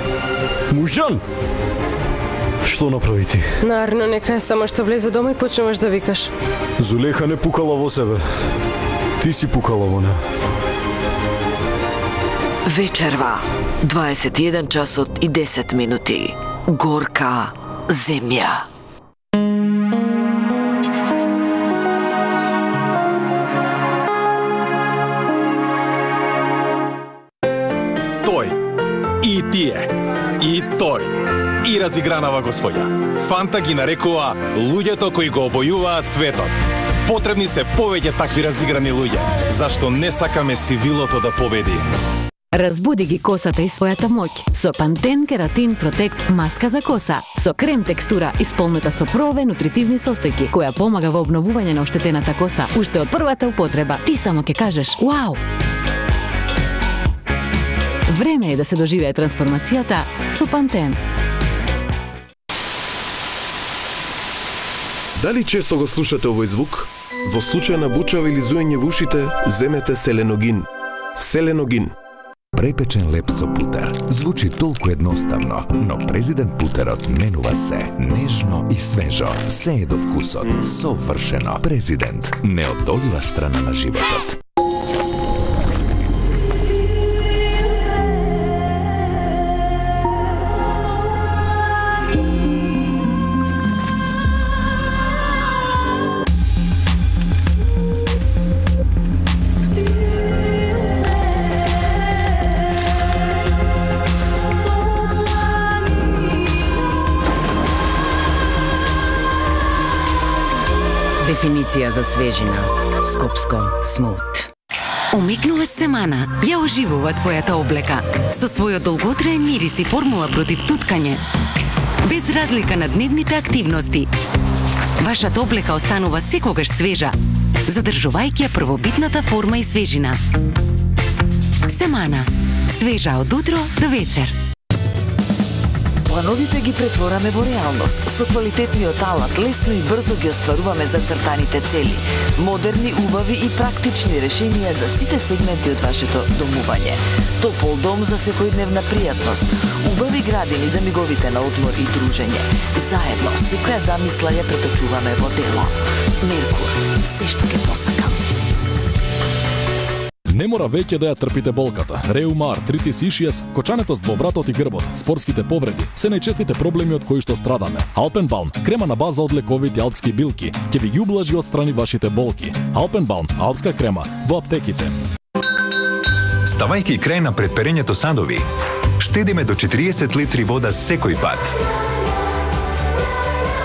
Мужџан? Што направи ти? Нарно, нека е само што влезе дома и почнуваш да викаш. Зулеха не пукала во себе. Ти си пукала во неа. Вечерва, 21 часот и 10 минути. Горка земја. Тој, и тие, и тој, и разигранава господја. Фанта ги нарекува луѓето кои го обојуваат светот. Потребни се повеќе такви разиграни луѓе, зашто не сакаме сивилото да победи. Разбуди ги косата и својата моќ со Пантен Кератин Протект маска за коса со крем текстура исполнета со ПРО-ове нутритивни состојки која помага во обновување на оштетената коса уште од првата употреба. Ти само ќе кажеш вау. Време е да се доживее трансформацијата со Пантен. Дали често го слушате овој звук? Во случај на бучава или зуење во ушите, земете Селеногин. Селеногин. Препечен леп со путер. Звучи толку едноставно, но президент путерот менува се. Нежно и свежо. Се е до вкусот. Совршено. Президент. Неодолива страна на животот. Дефиниција за свежина. Скопско Смут. Умикнуваш семана, ја оживува твојата облека. Со својот долготраен мирис и формула против туткање. Без разлика на дневните активности. Вашата облека останува секогаш свежа, задржувајќи ја првобитната форма и свежина. Семана. Свежа од утро до вечер. Плановите ги претвораме во реалност. Со квалитетниот алат лесно и брзо ги остваруваме зацртаните цели. Модерни, убави и практични решенија за сите сегменти од вашето домување. Топол дом за секојдневна пријатност. Убави градини за миговите на одмор и дружење. Заедно, секоја замисла ја преточуваме во дело. Меркур, се што ќе посакам. Не мора веќе да ја трпите болката. Реума, артритис, ишиес, вкочането во вратот и грбот, спортските повреди, се најчестите проблеми од кои што страдаме. Алпенбаум, крема на база од лековити алпски билки, ќе ви ги ублажи отстрани вашите болки. Алпенбаум, алпска крема, во аптеките. Ставајќи крај на предперењето садови, штедиме до 40 литри вода секој пат.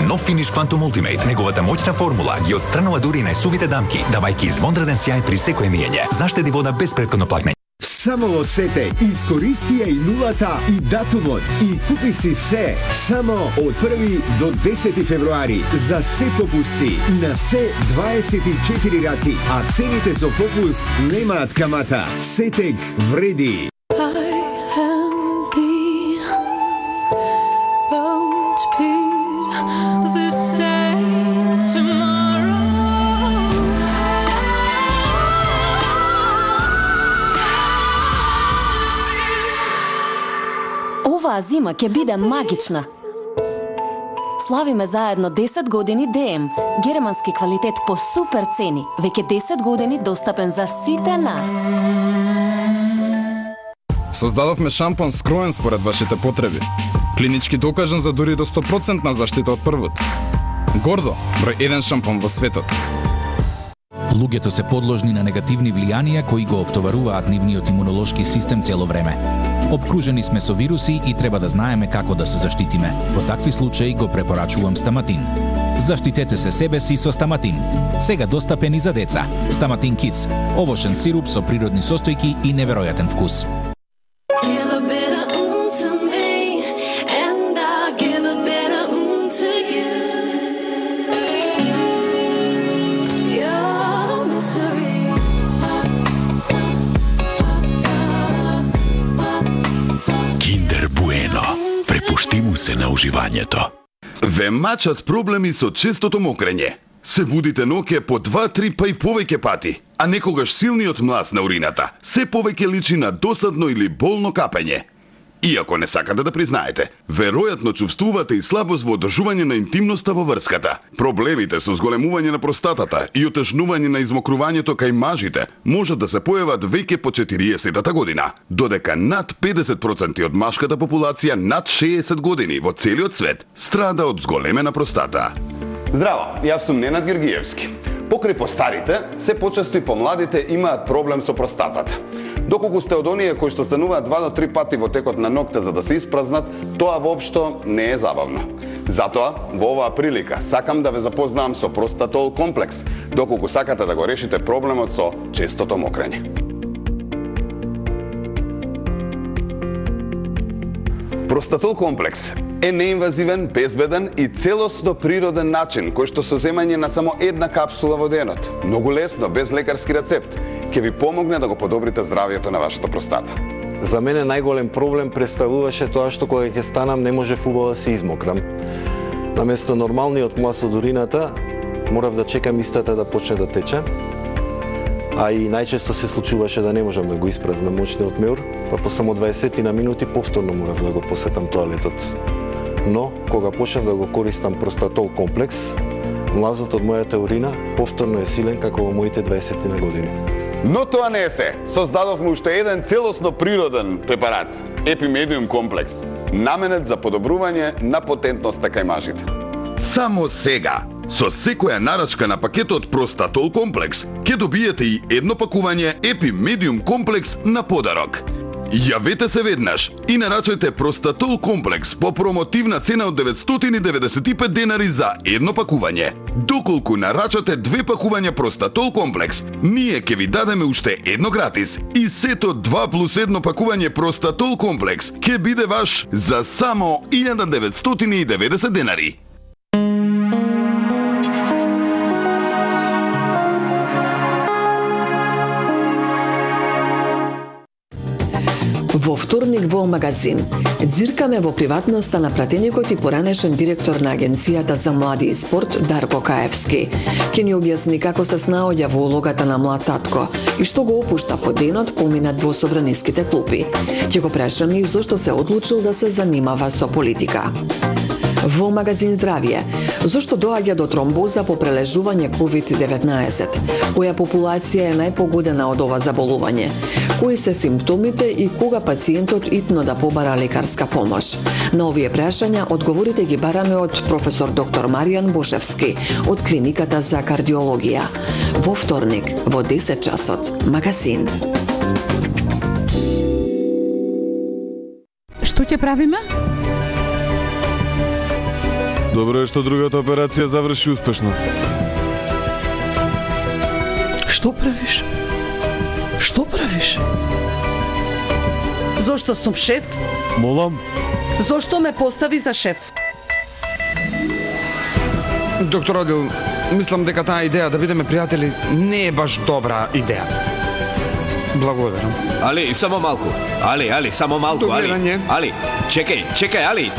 Нов Finish Quantum Ultimate, неговата моќна формула ги отстранува дури најсувите дамки, давајќи извонреден сјај при секое миење. Заштеди вода без претходно плакнење. Само во Сете, искористи ја и нулата и датумот и купи си се само од 1 до 10 февруари за се попусти на се 24 рати, а цените со попуст немаат камата. Сетек вреди. Оваа зима ќе биде магична. Славиме заедно 10 години ДМ. Германски квалитет по супер цени. Веќе 10 години достапен за сите нас. Создадовме шампон скроен според вашите потреби. Клинички докажан за дури до 100% заштита од првот. Гордо, број 1 шампон во светот. Луѓето се подложни на негативни влијанија кои го оптоваруваат нивниот имунолошки систем цело време. Обкружени сме со вируси и треба да знаеме како да се заштитиме. Во такви случаи го препорачувам Стаматин. Заштитете се себе си со Стаматин. Сега достапен и за деца. Стаматин Kids. Овошен сируп со природни состојки и неверојатен вкус. Препушти му се на уживањето. Ве мачат проблеми со честото мокрење. Се будите ноќе по 2-3 па и повеќе пати, а некогаш силниот млас на урината се повеќе личи на досадно или болно капење. Иако не сакате да признаете, веројатно чувствувате и слабост во одржување на интимноста во врската. Проблемите со зголемување на простатата и отежнување на измокрувањето кај мажите можат да се појават веќе по 40-та година, додека над 50% од машката популација над 60 години во целиот свет страда од зголемена простата. Здраво, јас сум Ненад Георгиевски. Покрај постарите, се почесто и помладите имаат проблем со простатата. Доколку сте од оние кои што стануваат 2 до 3 пати во текот на ноќта за да се испразнат, тоа воопшто не е забавно. Затоа, во оваа прилика, сакам да ве запознавам со Простатол комплекс, доколку сакате да го решите проблемот со честото мокрење. Простатол комплекс е неинвазивен, безбеден и целосно природен начин кој што со земање на само една капсула во денот, многу лесно, без лекарски рецепт, ќе ви помогне да го подобрите здравието на вашата простата. За мене најголем проблем представуваше тоа што кога ќе станам не можев убаво да се измокрам. Наместо нормалниот млас од урината, морав да чекам истата да почне да тече. а и најчесто се случуваше да не можам да го испразнам мочниот меур, па по само 20 на минути повторно морав да го посетам тоалетот. Но, кога почнав да го користам простатол комплекс, млазот од мојата урина повторно е силен како во моите 20 на години. Но тоа не е се. Создадовме уште еден целосно природен препарат, Епимедиум комплекс, наменет за подобрување на потентноста кај мажите. Само сега, со секоја нарачка на пакетот Простатол комплекс, ќе добиете и едно пакување Епимедиум комплекс на подарок. Јавете се веднаш и нарачајте Простатол комплекс по промотивна цена од 995 денари за едно пакување. Доколку нарачате 2 пакувања Простатол комплекс, ние ќе ви дадеме уште едно гратис и сето 2+1 пакување Простатол комплекс ќе биде ваш за само 1990 денари. Во вторник во магазин дзиркаме во приватноста на пратеникот и поранешен директор на Агенцијата за млади и спорт Дарко Каевски. Ќе ни објасни како се снаоѓа во улогата на млад татко и што го опушта по денот поминат во собраниските клупи. Ќе го прашаме и зошто се одлучил да се занимава со политика. Во магазин Здравје, зошто доаѓа до тромбоза по прележување COVID-19? Која популација е најпогодена од ова заболување? Кои се симптомите и кога пациентот итно да побара лекарска помош? На овие прашања одговорите ги бараме од професор доктор Маријан Бошевски од Клиниката за кардиологија. Во вторник, во 10 часот, магазин. Што ќе правиме? Добро е што другата операција заврши успешно. Што правиш? Што правиш? Зошто сум шеф? Молам? Зошто ме постави за шеф? Доктор Одил, мислам дека таа идеја да бидеме пријатели не е баш добра идеја. Благодарам. Али, само малку. Али, само малку, Али, чекај, Али.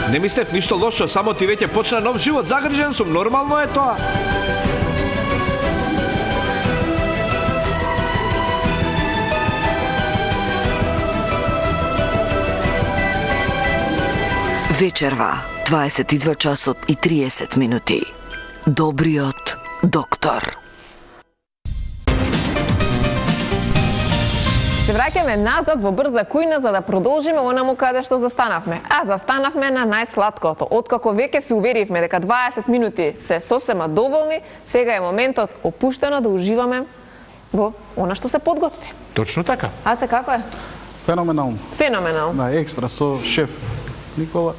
Не мислев ништо лошо, само ти веќе почна нов живот, загрижен сум, нормално е тоа. Вечерва, 22 часот и 30 минути. Добриот доктор. Се враќаме назад во брза кујна за да продолжиме онаму каде што застанавме. А застанавме на најсладкото. Откако веќе се уверивме дека 20 минути се сосема доволни, сега е моментот опуштено да уживаме во она што се подготви. Точно така. Аце, како е? Феноменално. Феноменално. Да, екстра со шеф Никола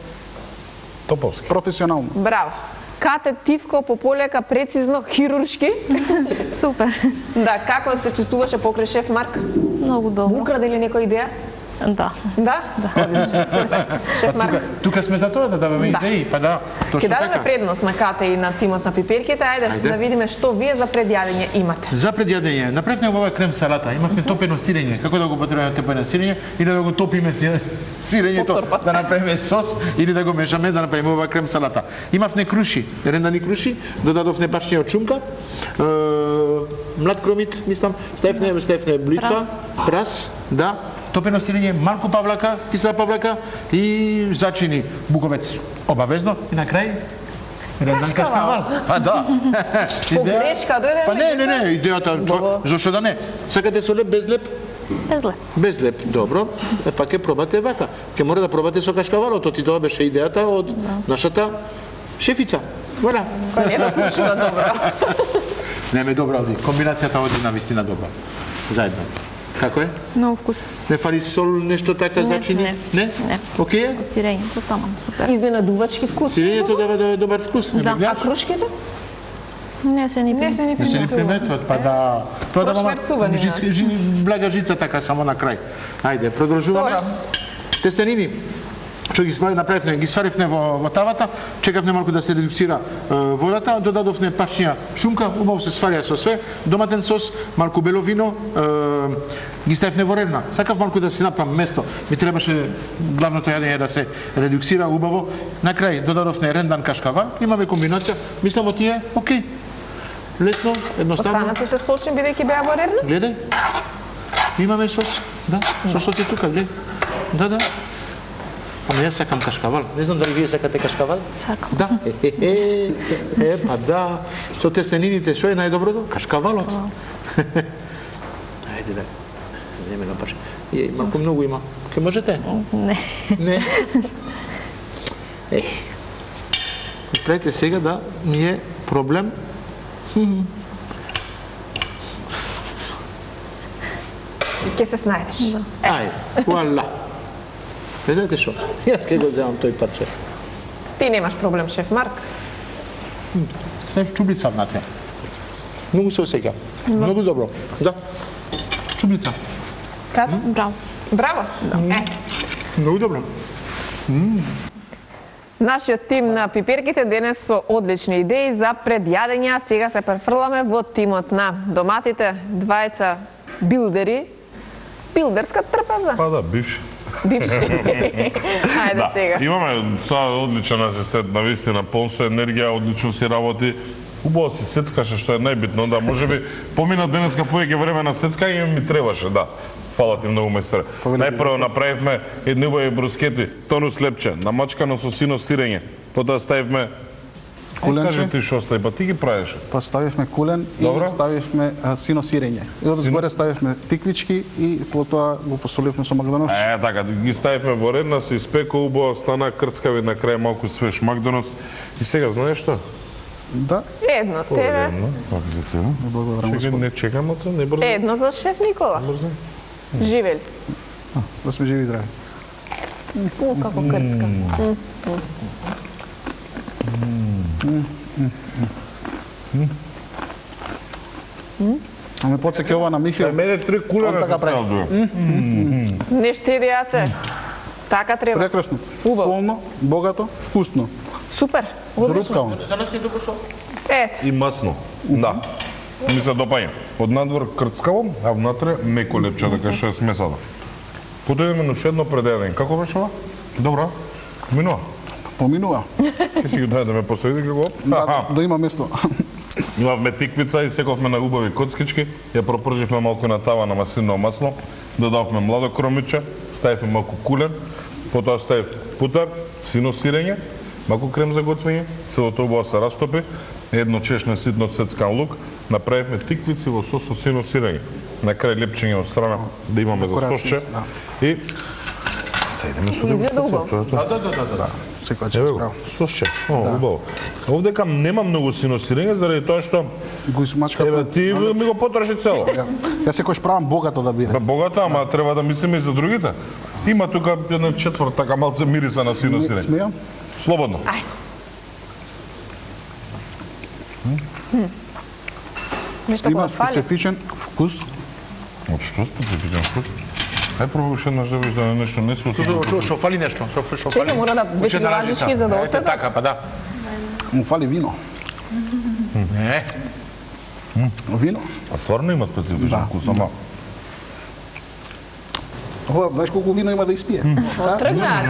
Топовски. Професионално. Браво. Кате тивко, пополека, прецизно, хируршки. Супер. Да, како се чувствуваше покрај шеф Марк? Многу добро. Украде ли некоја идеја? Да. Да? Одлично, супер. Шеф Марк. Тука сме за тоа да даваме идеи, па да, точно така. Ќе дадеме така. предност на Кате и на тимот на пиперките. Ајде да видиме што вие за предјадење имате. За предјадење, направивме ова крем салата, имавме топено сирење. Како да го потребаме топено сирење или да го топиме сирењето, да направиме сос или да го мешаме да направиме ова крем салата. Имавме круши, рендани круши, додадовме башња од шунка, млад кромит, мислам, ставивме блитва, прас, да, топено сирење, малку павлака, кисела павлака и зачини буковец. Обавезно и на крај рендан кашкавал. А да. По грешка дојде. Па не, идејата, зошто да не? Сакате со леп, без леп? Без леп. Без леп, добро. Па ќе пробате вака. Ќе мора да пробате со кашкавалото, ти тоа беше идејата од нашата шефица. Вала. Па не да слушува добро. Не ме добра оди. Комбинацијата оди на вистина добра. Заедно. Како е? Многу вкусно. Не фали сол, нешто така зачини? Не? Не. Окей е? Од сирењето таман, супер. Изненадувачки вкус. Сирењето дава добар вкус. Да. А крушките? Не се ни приметуваат, па да. Тоа да мама Прошмерцувани, блага жица така само на крај. Ајде, продолжуваме. Тестенини. Што ги направивме, ги сваривме во тавата, чекавме малку да се редуцира водата, додадовме пачња шунка, убаво се сварија со све, доматен сос, малку бело вино, ги ставивме во ренна. Сакав малку да се направам место. Ми требаше главното јадење да се редуцира убаво. На крај додадовме рендан кашкавал, имаме комбинација, мислам тие, окей. Лесно, едноставно. Останати се сочни бидејќи беа во Рерна? Гледај. Имаме сос. Да, сосот е тука, гледај. Да. Ама јас сакам кашкавал. Не знам дали вие сакате кашкавал? Сакам. Да. Па да. Со тестенините, што е најдоброто? Кашкавалот. Ајде да. Земе на парче. Малку многу има. Ке можете? Не. Не. Правите сега да ми е проблем. Ке се снајдеш. Ајде, вуала. Не знаете што? Јас ке го земам тој парче. Ти немаш проблем, шеф Марк. Знаеш, чубица внатре. Многу се осеќа. Многу добро. Да. Чубица. Како? Браво. Браво. Многу добро. Нашиот тим на пиперките денес со одлични идеи за предјадења. Сега се префрламе во тимот на доматите, двајца билдери. Билдерска трпеза. Па да, бивши. Ајде сега. Имаме одличен асистент, на вистина, полн со енергија, одлично си работи. Убаво си сецкаше, што е најбитно, да, можеби помина денеска повеќе време на сецкање ми требаше, да. Фала ти многу, мајсторе. Најпрво направивме едни убави брускети, тонус лепче, намачкано со сино сирење. Потоа ставивме Куленче. Кажи ти што стај, па ти ги правеше. Па ставивме кулен и ставивме сино сирење. И одзгоре ставивме тиквички и потоа го посоливме со Макдоналдс. Така, ги ставивме во редна, се испека убаво, стана крцкави, на крај малку свеж Макдоналдс. И сега знаеш што? Да. Едно тебе. Едно, пак за тебе. Благодарам, Господ. Не чекам, не брзо. Едно за шеф Никола. Живели. Да сме живи и здрави. Како крцка. А ме подсеќа ова на Михаил. Мене 3 кулера се ставдува. Не штеди јаце. Така треба. Прекрасно. Полно, богато, вкусно. Супер. Одлично. За нас е добро што? Ето. И масно. Да. Ми се допаѓа. Од надвор крцкаво, а внатре меко лепче, дека што е смесано. Потоа имаме уште едно предеден. Како беше ова? Добро. Минува. Поминува. Ке си го даде да ме посреди како? Да има место. Имавме тиквица и сековме на убави коцкички, ја пропрживме малку на тава на маслиново масло, додавме младо кромиче, ставивме малку кулен, потоа ставив путар, сино сирење, малку крем за готвење, целото убаво се растопи, едно чешне ситно цецкан лук, направивме тиквици во сос со сино сирење. На крај лепчење од страна да имаме за сосче и се идеме со дегустација. Да. Секоја чест, браво. Сосче. Убаво. Овдека нема многу сино сирење заради тоа што го смачка. Ти ми го потроши цело. Јас секојаш правам богато да биде. Богато, ама треба да мислиме и за другите. Има тука една четврт така малце мириса на сино сирење. Смејам? Слободно. Нешто има кога фали. специфичен вкус. Од што специфичен вкус? Ај пробај уште еднаш да видиш да нешто не се осеќа. Што фали нешто? Што фали? Чекај, мора да веќе лажички за да оседа. Така, па да. Му фали вино. Не. Вино? А стварно има специфичен вкус, ама Ова, знаеш колку вино има да испие? Тргнаа.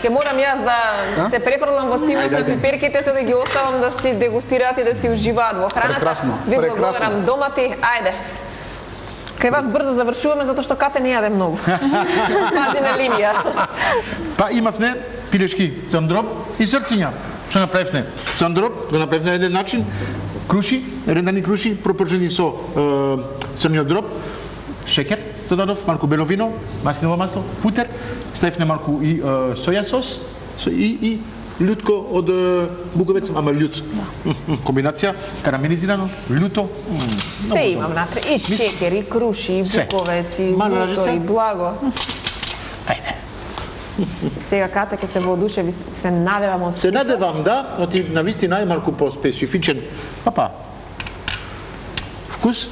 Ке морам јас да се префрлам во тимот на пиперките за да ги оставам да си дегустираат и да си уживаат во храната. Прекрасно. Ви благодарам домати. Ајде. Кај вас брзо завршуваме затоа што Кате не јаде многу. Пази на линија. Па имавме пилешки црндроп и срциња. Што направивме? Црндроп го направивме на еден начин, круши, рендани круши, пропржени со црниот дроб, шеќер додадов, малку бело вино, маслиново масло, путер, ставивме малку и соја сос и љутко од буковец, ама љут. Комбинација карамелизирано, љуто. Се имам натре. И шекер, и круши, и буковец, и љуто, и благо. Ајде. Сега Ката ќе се воодушеви, се надевам од Се надевам, да, но ти навистина е малку по-специфичен. Папа. Вкус.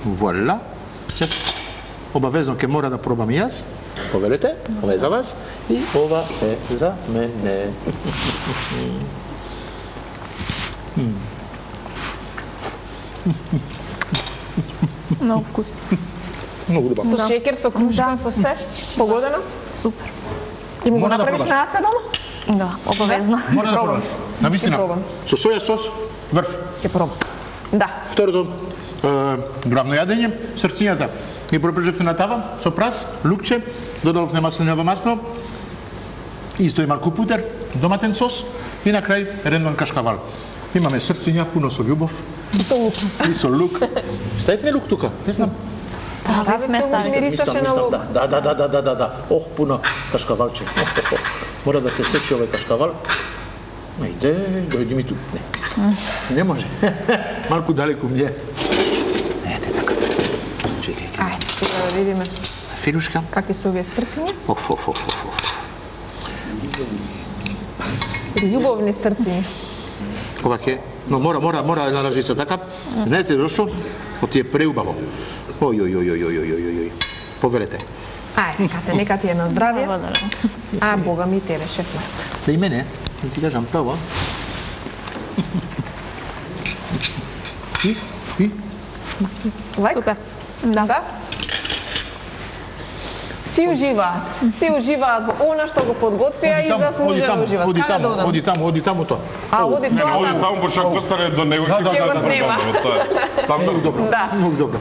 Вуала. Обавезно ќе мора да пробам и јас. Повелете, ова е за вас и ова е за мене. Многу вкусно. Многу добро. Со шекер, со крушка, со се? Погодено? Супер. И му го Мора да направиш пробаш. на аца дома? Да, обавезно. Мора да пробам. Навистина. Со соја сос, врв. Ќе пробам. Да. Второто главно јадење, срцињата ги пропрежевме на тава со прас, лукче, додавме маслиново масло, исто и малку путер, доматен сос и на крај рендон кашкавал. Имаме срциња пуно со љубов. И со лук. И со лук. Ставивме лук тука, не знам. Ставивме, мирисаше на лук. Да. Ох, пуно кашкавалче. Мора да се сечи овој кашкавал. Ајде, дојди ми ту. Не може. Малку далеку мне. Ете така. Чекај. Ајде, сега да видиме. Филушка. Какви се овие срциња? Љубовни срциња. Оваке. Но мора една лажица така. Знаете зашто? Оти е преубаво. Ој. Повелете. Ајде, нека ти е на здравје. А, Бога ми тебе, шеф Марк. Да и мене, да ти кажам право. И? Супер. Да. Си уживаат во она што го подготвија и заслужено уживаат. Каде да одам? Оди таму тоа. Оди тоа. Оди таму, пошто ако стане до него ќе го снема. Многу добро. Многу добро.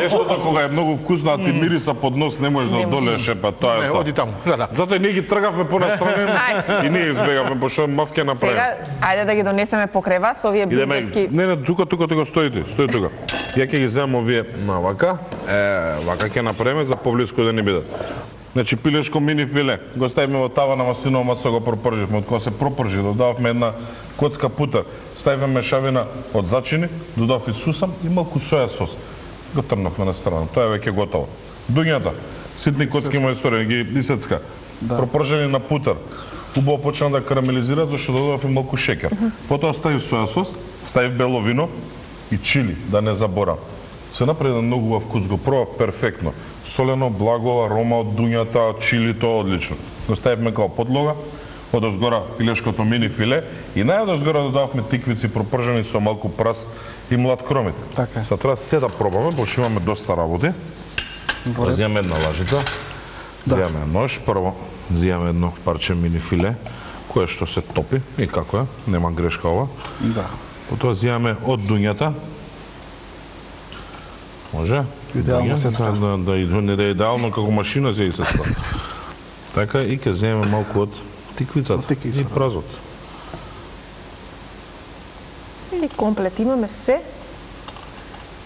Нештото кога е многу вкусно, а ти мириса под нос, не можеш да одолееш, па тоа е тоа. Оди таму. Да. Затоа ние ги тргавме понастране и ние избегавме, пошто мавке направи. Сега, ајде да ги донесеме покрај вас овие бургерски. Не, тука стоите, стои тука. Ја ќе ги земам овие на вака, вака ќе направиме за поблиску да не бидат. Значи пилешко мини филе, го ставиме во тава на маслиново масло, го пропрживме, од кога се пропржи, додававме една коцка путер, ставиме мешавина од зачини, додав и сусам и малку соја сос. Го трнавме на страна, тоа е веќе готово. Дуњата, ситни коцки мајстори, ги исецка, пропржени на путер, убаво почна да карамелизираат, зашто додавав и малку шекер. Потоа ставив соја сос, ставив бело вино и чили, да не заборам. Се направи еден многу убав вкус, го проба перфектно. Солено, благо, арома од дуњата, чилито, одлично. Го ставивме као подлога, одозгора пилешкото мини филе и најодозгора додававме тиквици пропржени со малку прас и млад кромит. Така е. Са треба се да пробаме, пошто имаме доста работи. Зијаме една лажица, зијаме нож, прво зијаме едно парче мини филе, кое што се топи и како е, нема грешка ова. Да. Потоа зијаме од дуњата. Може? Идеално да е идеално како машина се исецка. Така и ќе земеме малку од тиквицата и празот. И комплет имаме се.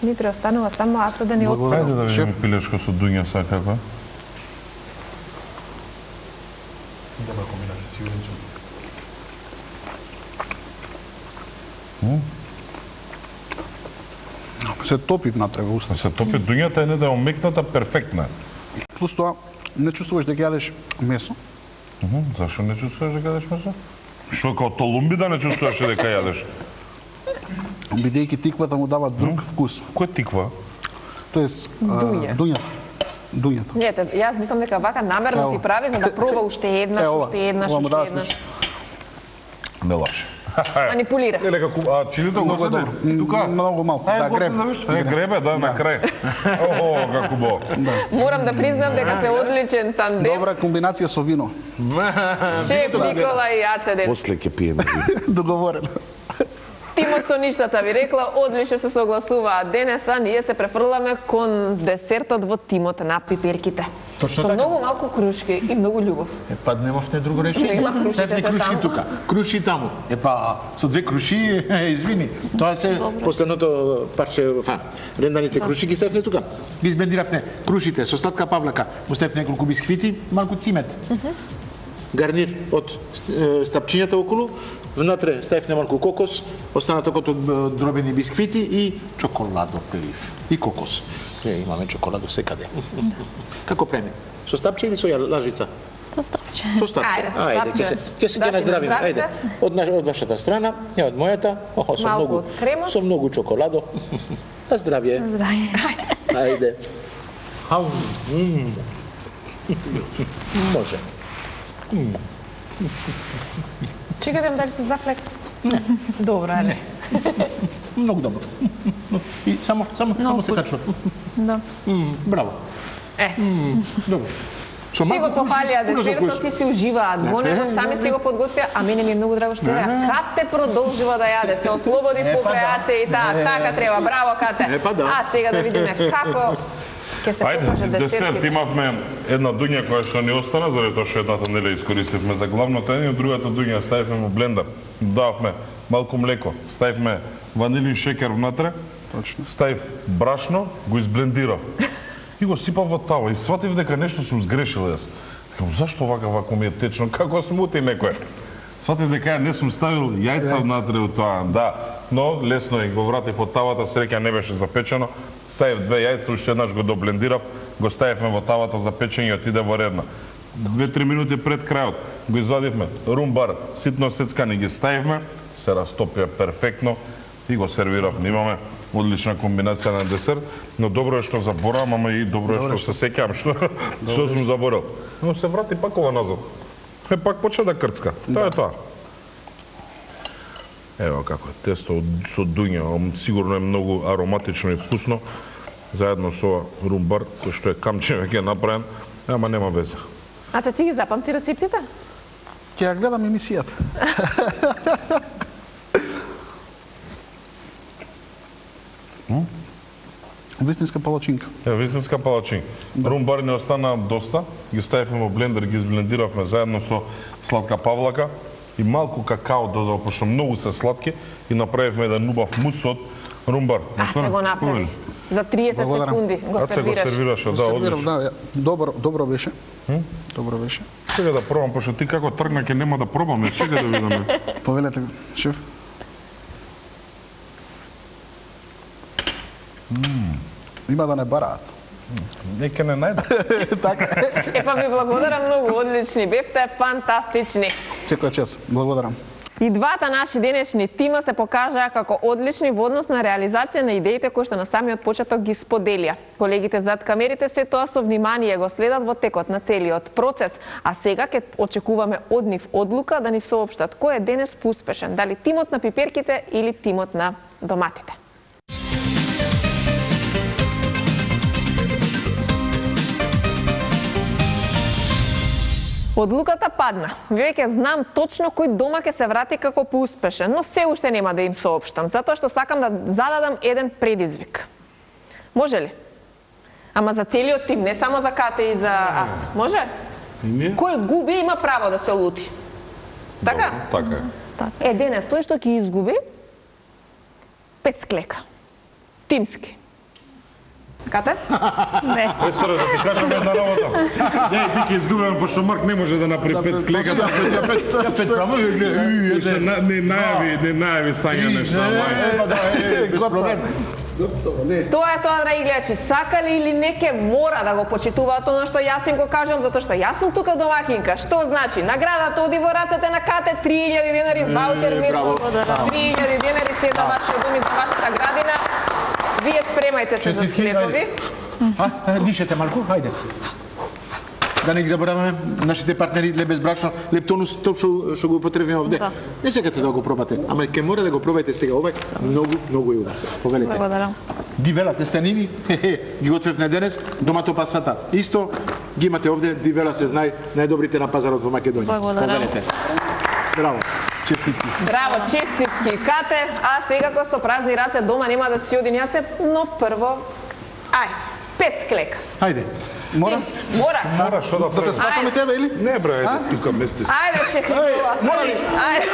Ни преостанува само аца да ни отсеме. Ајде да видиме пилешко со дуња сега како е. Добра комбинација, сигурен сум. Се топи внатре во уста. Се топи дуњата е не да е омекната, перфектна. Плюс тоа, не чувствуваш дека јадеш месо. Зашо не чувствуваш дека јадеш месо? Што, као толумби да не чувствуваш дека јадеш? Бидејќи тиквата му дава друг вкус. Кој тиква? Тоест, дуњата. Не, јас мислам дека вака намерно ти прави за да проба уште еднаш. Не лаше. Манипулира. Не, нека чилито го себе. Тука? Многу малку. Да, гребе, да, на крај. О, како бо. Морам да признам дека се одличен тандем. Добра комбинација со вино. Шеф Никола и Ацеден. После ќе пиеме вино. Договорено. Тимот со ништата ви рекла, одлично се согласуваат. Денеса ние се префрламе кон десертот во тимот на пиперките. Точно со така. многу малку крушки и многу љубов. Епа, немавте друго решение. Нема крушите Седни се крушки таму. тука, круши таму. Епа, со две круши, извини. Тоа се последното парче, ренданите круши ги ставивме тука. Ги избендиравме крушите со сладка павлака, му ставив неколку бисквити, малку цимет. Гарнир од стапчињата околу, внатре ставивме малку кокос, останатокот од дробени бисквити и чоколадоплив. И кокос. Имаме чоколадо секаде. Како преме? Со стапче или со лажица? Со стапче. Со стапче. Ајде, со стапче. Ќе се наздравиме. Ајде. Од вашата страна, ја од мојата. Со малку многу од кремот. Со многу чоколадо. На здравје. На здравје. Ајде. Може. Чекай дали се зафлек. Добро, ајде. Многу добро. И само се качува. Да. Браво. Е. Добро. Си го пофалија десертот, ти си уживаат во него, сами си го подготвија, а мене ми е многу драго што реа. Кате продолжува да јаде, се ослободи покрај Аце и така треба, браво Кате. А сега да видиме како ќе се покаже десерт. Имавме една дуња која што ни остана, заради тоа што едната не ја искористивме за главното едно, другата дуња ставивме во блендер, додавме малку млеко, ставивме ванилин шекер внатре, ставив брашно, го изблендирав и го сипав во тава и сватив дека нешто сум сгрешил јас. Зашто вака ми е течно, како смути некој? Сватив дека ја не сум ставил јајца внатре у тоа, да, но лесно и го вратив од тавата, среќа не беше запечено, ставив 2 јајца, уште еднаш го доблендирав, го ставивме во тавата за печење и отиде во редна. 2-3 минути пред крајот го извадивме, румбар, ситно сецкани ги ставивме, се растопија перфектно и го сервиравме. Имаме одлична комбинација на десерт, но добро е што заборавам, ама и добро е што се сеќавам што сум заборал. Но се врати пак ова назад. Пак почна да крцка. Тоа е тоа. Ево како е тесто со дуња, сигурно е многу ароматично и вкусно, заедно со румбар, кој што е камче веќе направен, ама нема везе. Аце, ти ги запамти рецептите? Ќе ја гледам емисијата. Вистинска палачинка. Вистинска палачинка. Румбар не остана доста, ги ставивме во блендер, ги изблендиравме заедно со сладка павлака и малку какао додал, пошто многу се сладки и направивме еден убав мус од румбар. Аце го направи. За 30 секунди го сервираш. Аце го сервираше, да, одлично. Добро беше. Добро беше. Сега да пробам, пошто ти како тргна ќе нема да пробаме, сега да видиме. Повелете, шеф. Има да не бараат. Нека не најдат. Така. Епа ви благодарам многу, одлични бевте, фантастични. Секој час, благодарам. И двата наши денешни тима се покажаа како одлични во однос на реализација на идеите кои што на самиот почеток ги споделија. Колегите зад камерите се тоа со внимание го следат во текот на целиот процес, а сега ќе очекуваме од нив одлука да ни соопштат кој е денес поуспешен, дали тимот на пиперките или тимот на доматите. Одлуката падна. Веќе знам точно кој дома ќе се врати како поуспешен, но се уште нема да им соопштам, затоа што сакам да зададам еден предизвик. Може ли? Ама за целиот тим, не само за Кате и за Ац. Може? Кој губи има право да се лути. Така? Така е. Денес тој што ќе изгуби 5 склека. Тимски. Кате? Не. Естора, да ти кажам една работа. Ја и ти ќе изгубиме, пошто Марк не може да направи 5 склека. Ја 5 право ја гледа. Уште не најави Сања нешто. Без проблем. Тоа е тоа, драги гледачи, сакали или не ке мора да го почитуваат она што јас им го кажам, затоа што јас сум тука домакинка. Што значи? Наградата оди во рацете на Кате, 3000 денари ваучер мирно. 3000 денари се за вашиот дом и за вашата градина. Вие спремајте се за склепови. Дишете малку, хајде. Да не ги забораваме нашите партнери леб без брашно, лептонус, топ што го употребиме овде. Не секате да го пробате, ама ќе мора да го пробајте сега. Ова е многу убав. Повелете. Благодарам. Дивела тестенини, ги готвевме денес, домато пасата. Исто ги имате овде, дивела се знае најдобрите на пазарот во Македонија. Благодарам. Повелете. Браво. Честитки. Браво, честитки, Кате. А сега кога со празни раце дома нема да си одим јасе, но прво, 5 склека. Хајде. Мора? Мора, што да те спасаме тебе или? Не бре, тука месте. Ајде, шеф Никола. Ајде.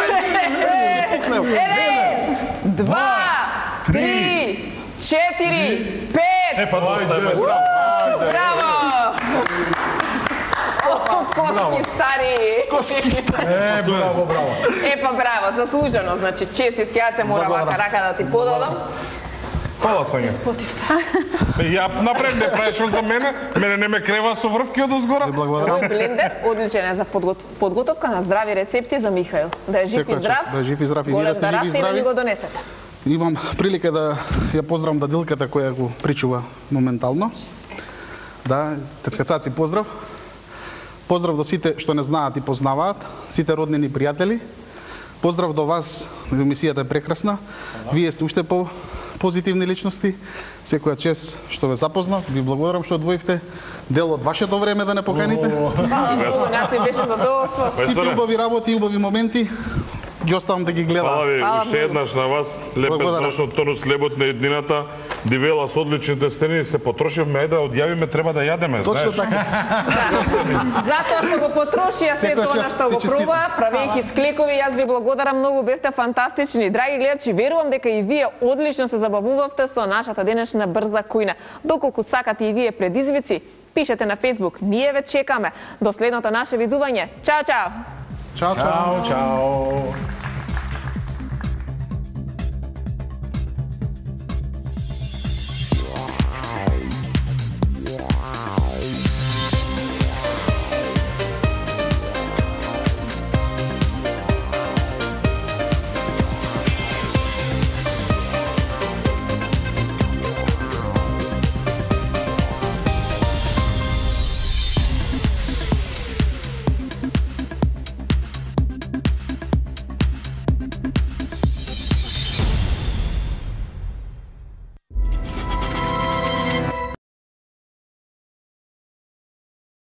1, 2, 3, 4, 5. Епа доста е место. Браво! Коски стари. Браво. Епа браво, заслужено, значи честитки, ја се мора вака рака да ти подадам. Фала Сања. Ја напред не правиш за мене не ме крева со врвки од озгора. Овој блендер одличен е за подготовка на здрави рецепти за Михаил. Да е жив и здрав. Да е жив и здрав и вие да расте и да ни го донесете. Имам прилика да ја поздравам дадилката која го причува моментално. Да, tetка Цаци, поздрав. Поздрав до сите што не знаат и познаваат, сите роднини пријатели. Поздрав до вас, емисијата е прекрасна. Вие сте уште позитивни личности. Секоја чест што ве запознав, ви благодарам што одвоивте дел од вашето време да не поканите. Нас не беше задоволство. Сите убави работи и убави моменти ги оставам да ги гледам. Фала ви уште еднаш на вас. Лепе страшно тонус лебот на еднината. Дивела со одличните страни се потрошивме, ајде да одјавиме, треба да јадеме, знаеш. Затоа што го потрошија се тоа што го проба, правејќи склекови, јас ви благодарам многу, бевте фантастични. Драги гледачи, верувам дека и вие одлично се забавувавте со нашата денешна брза кујна. Доколку сакате и вие предизвици, пишете на Facebook. Ние ве чекаме. До следното наше видување. Чао, чао. Чао, чао.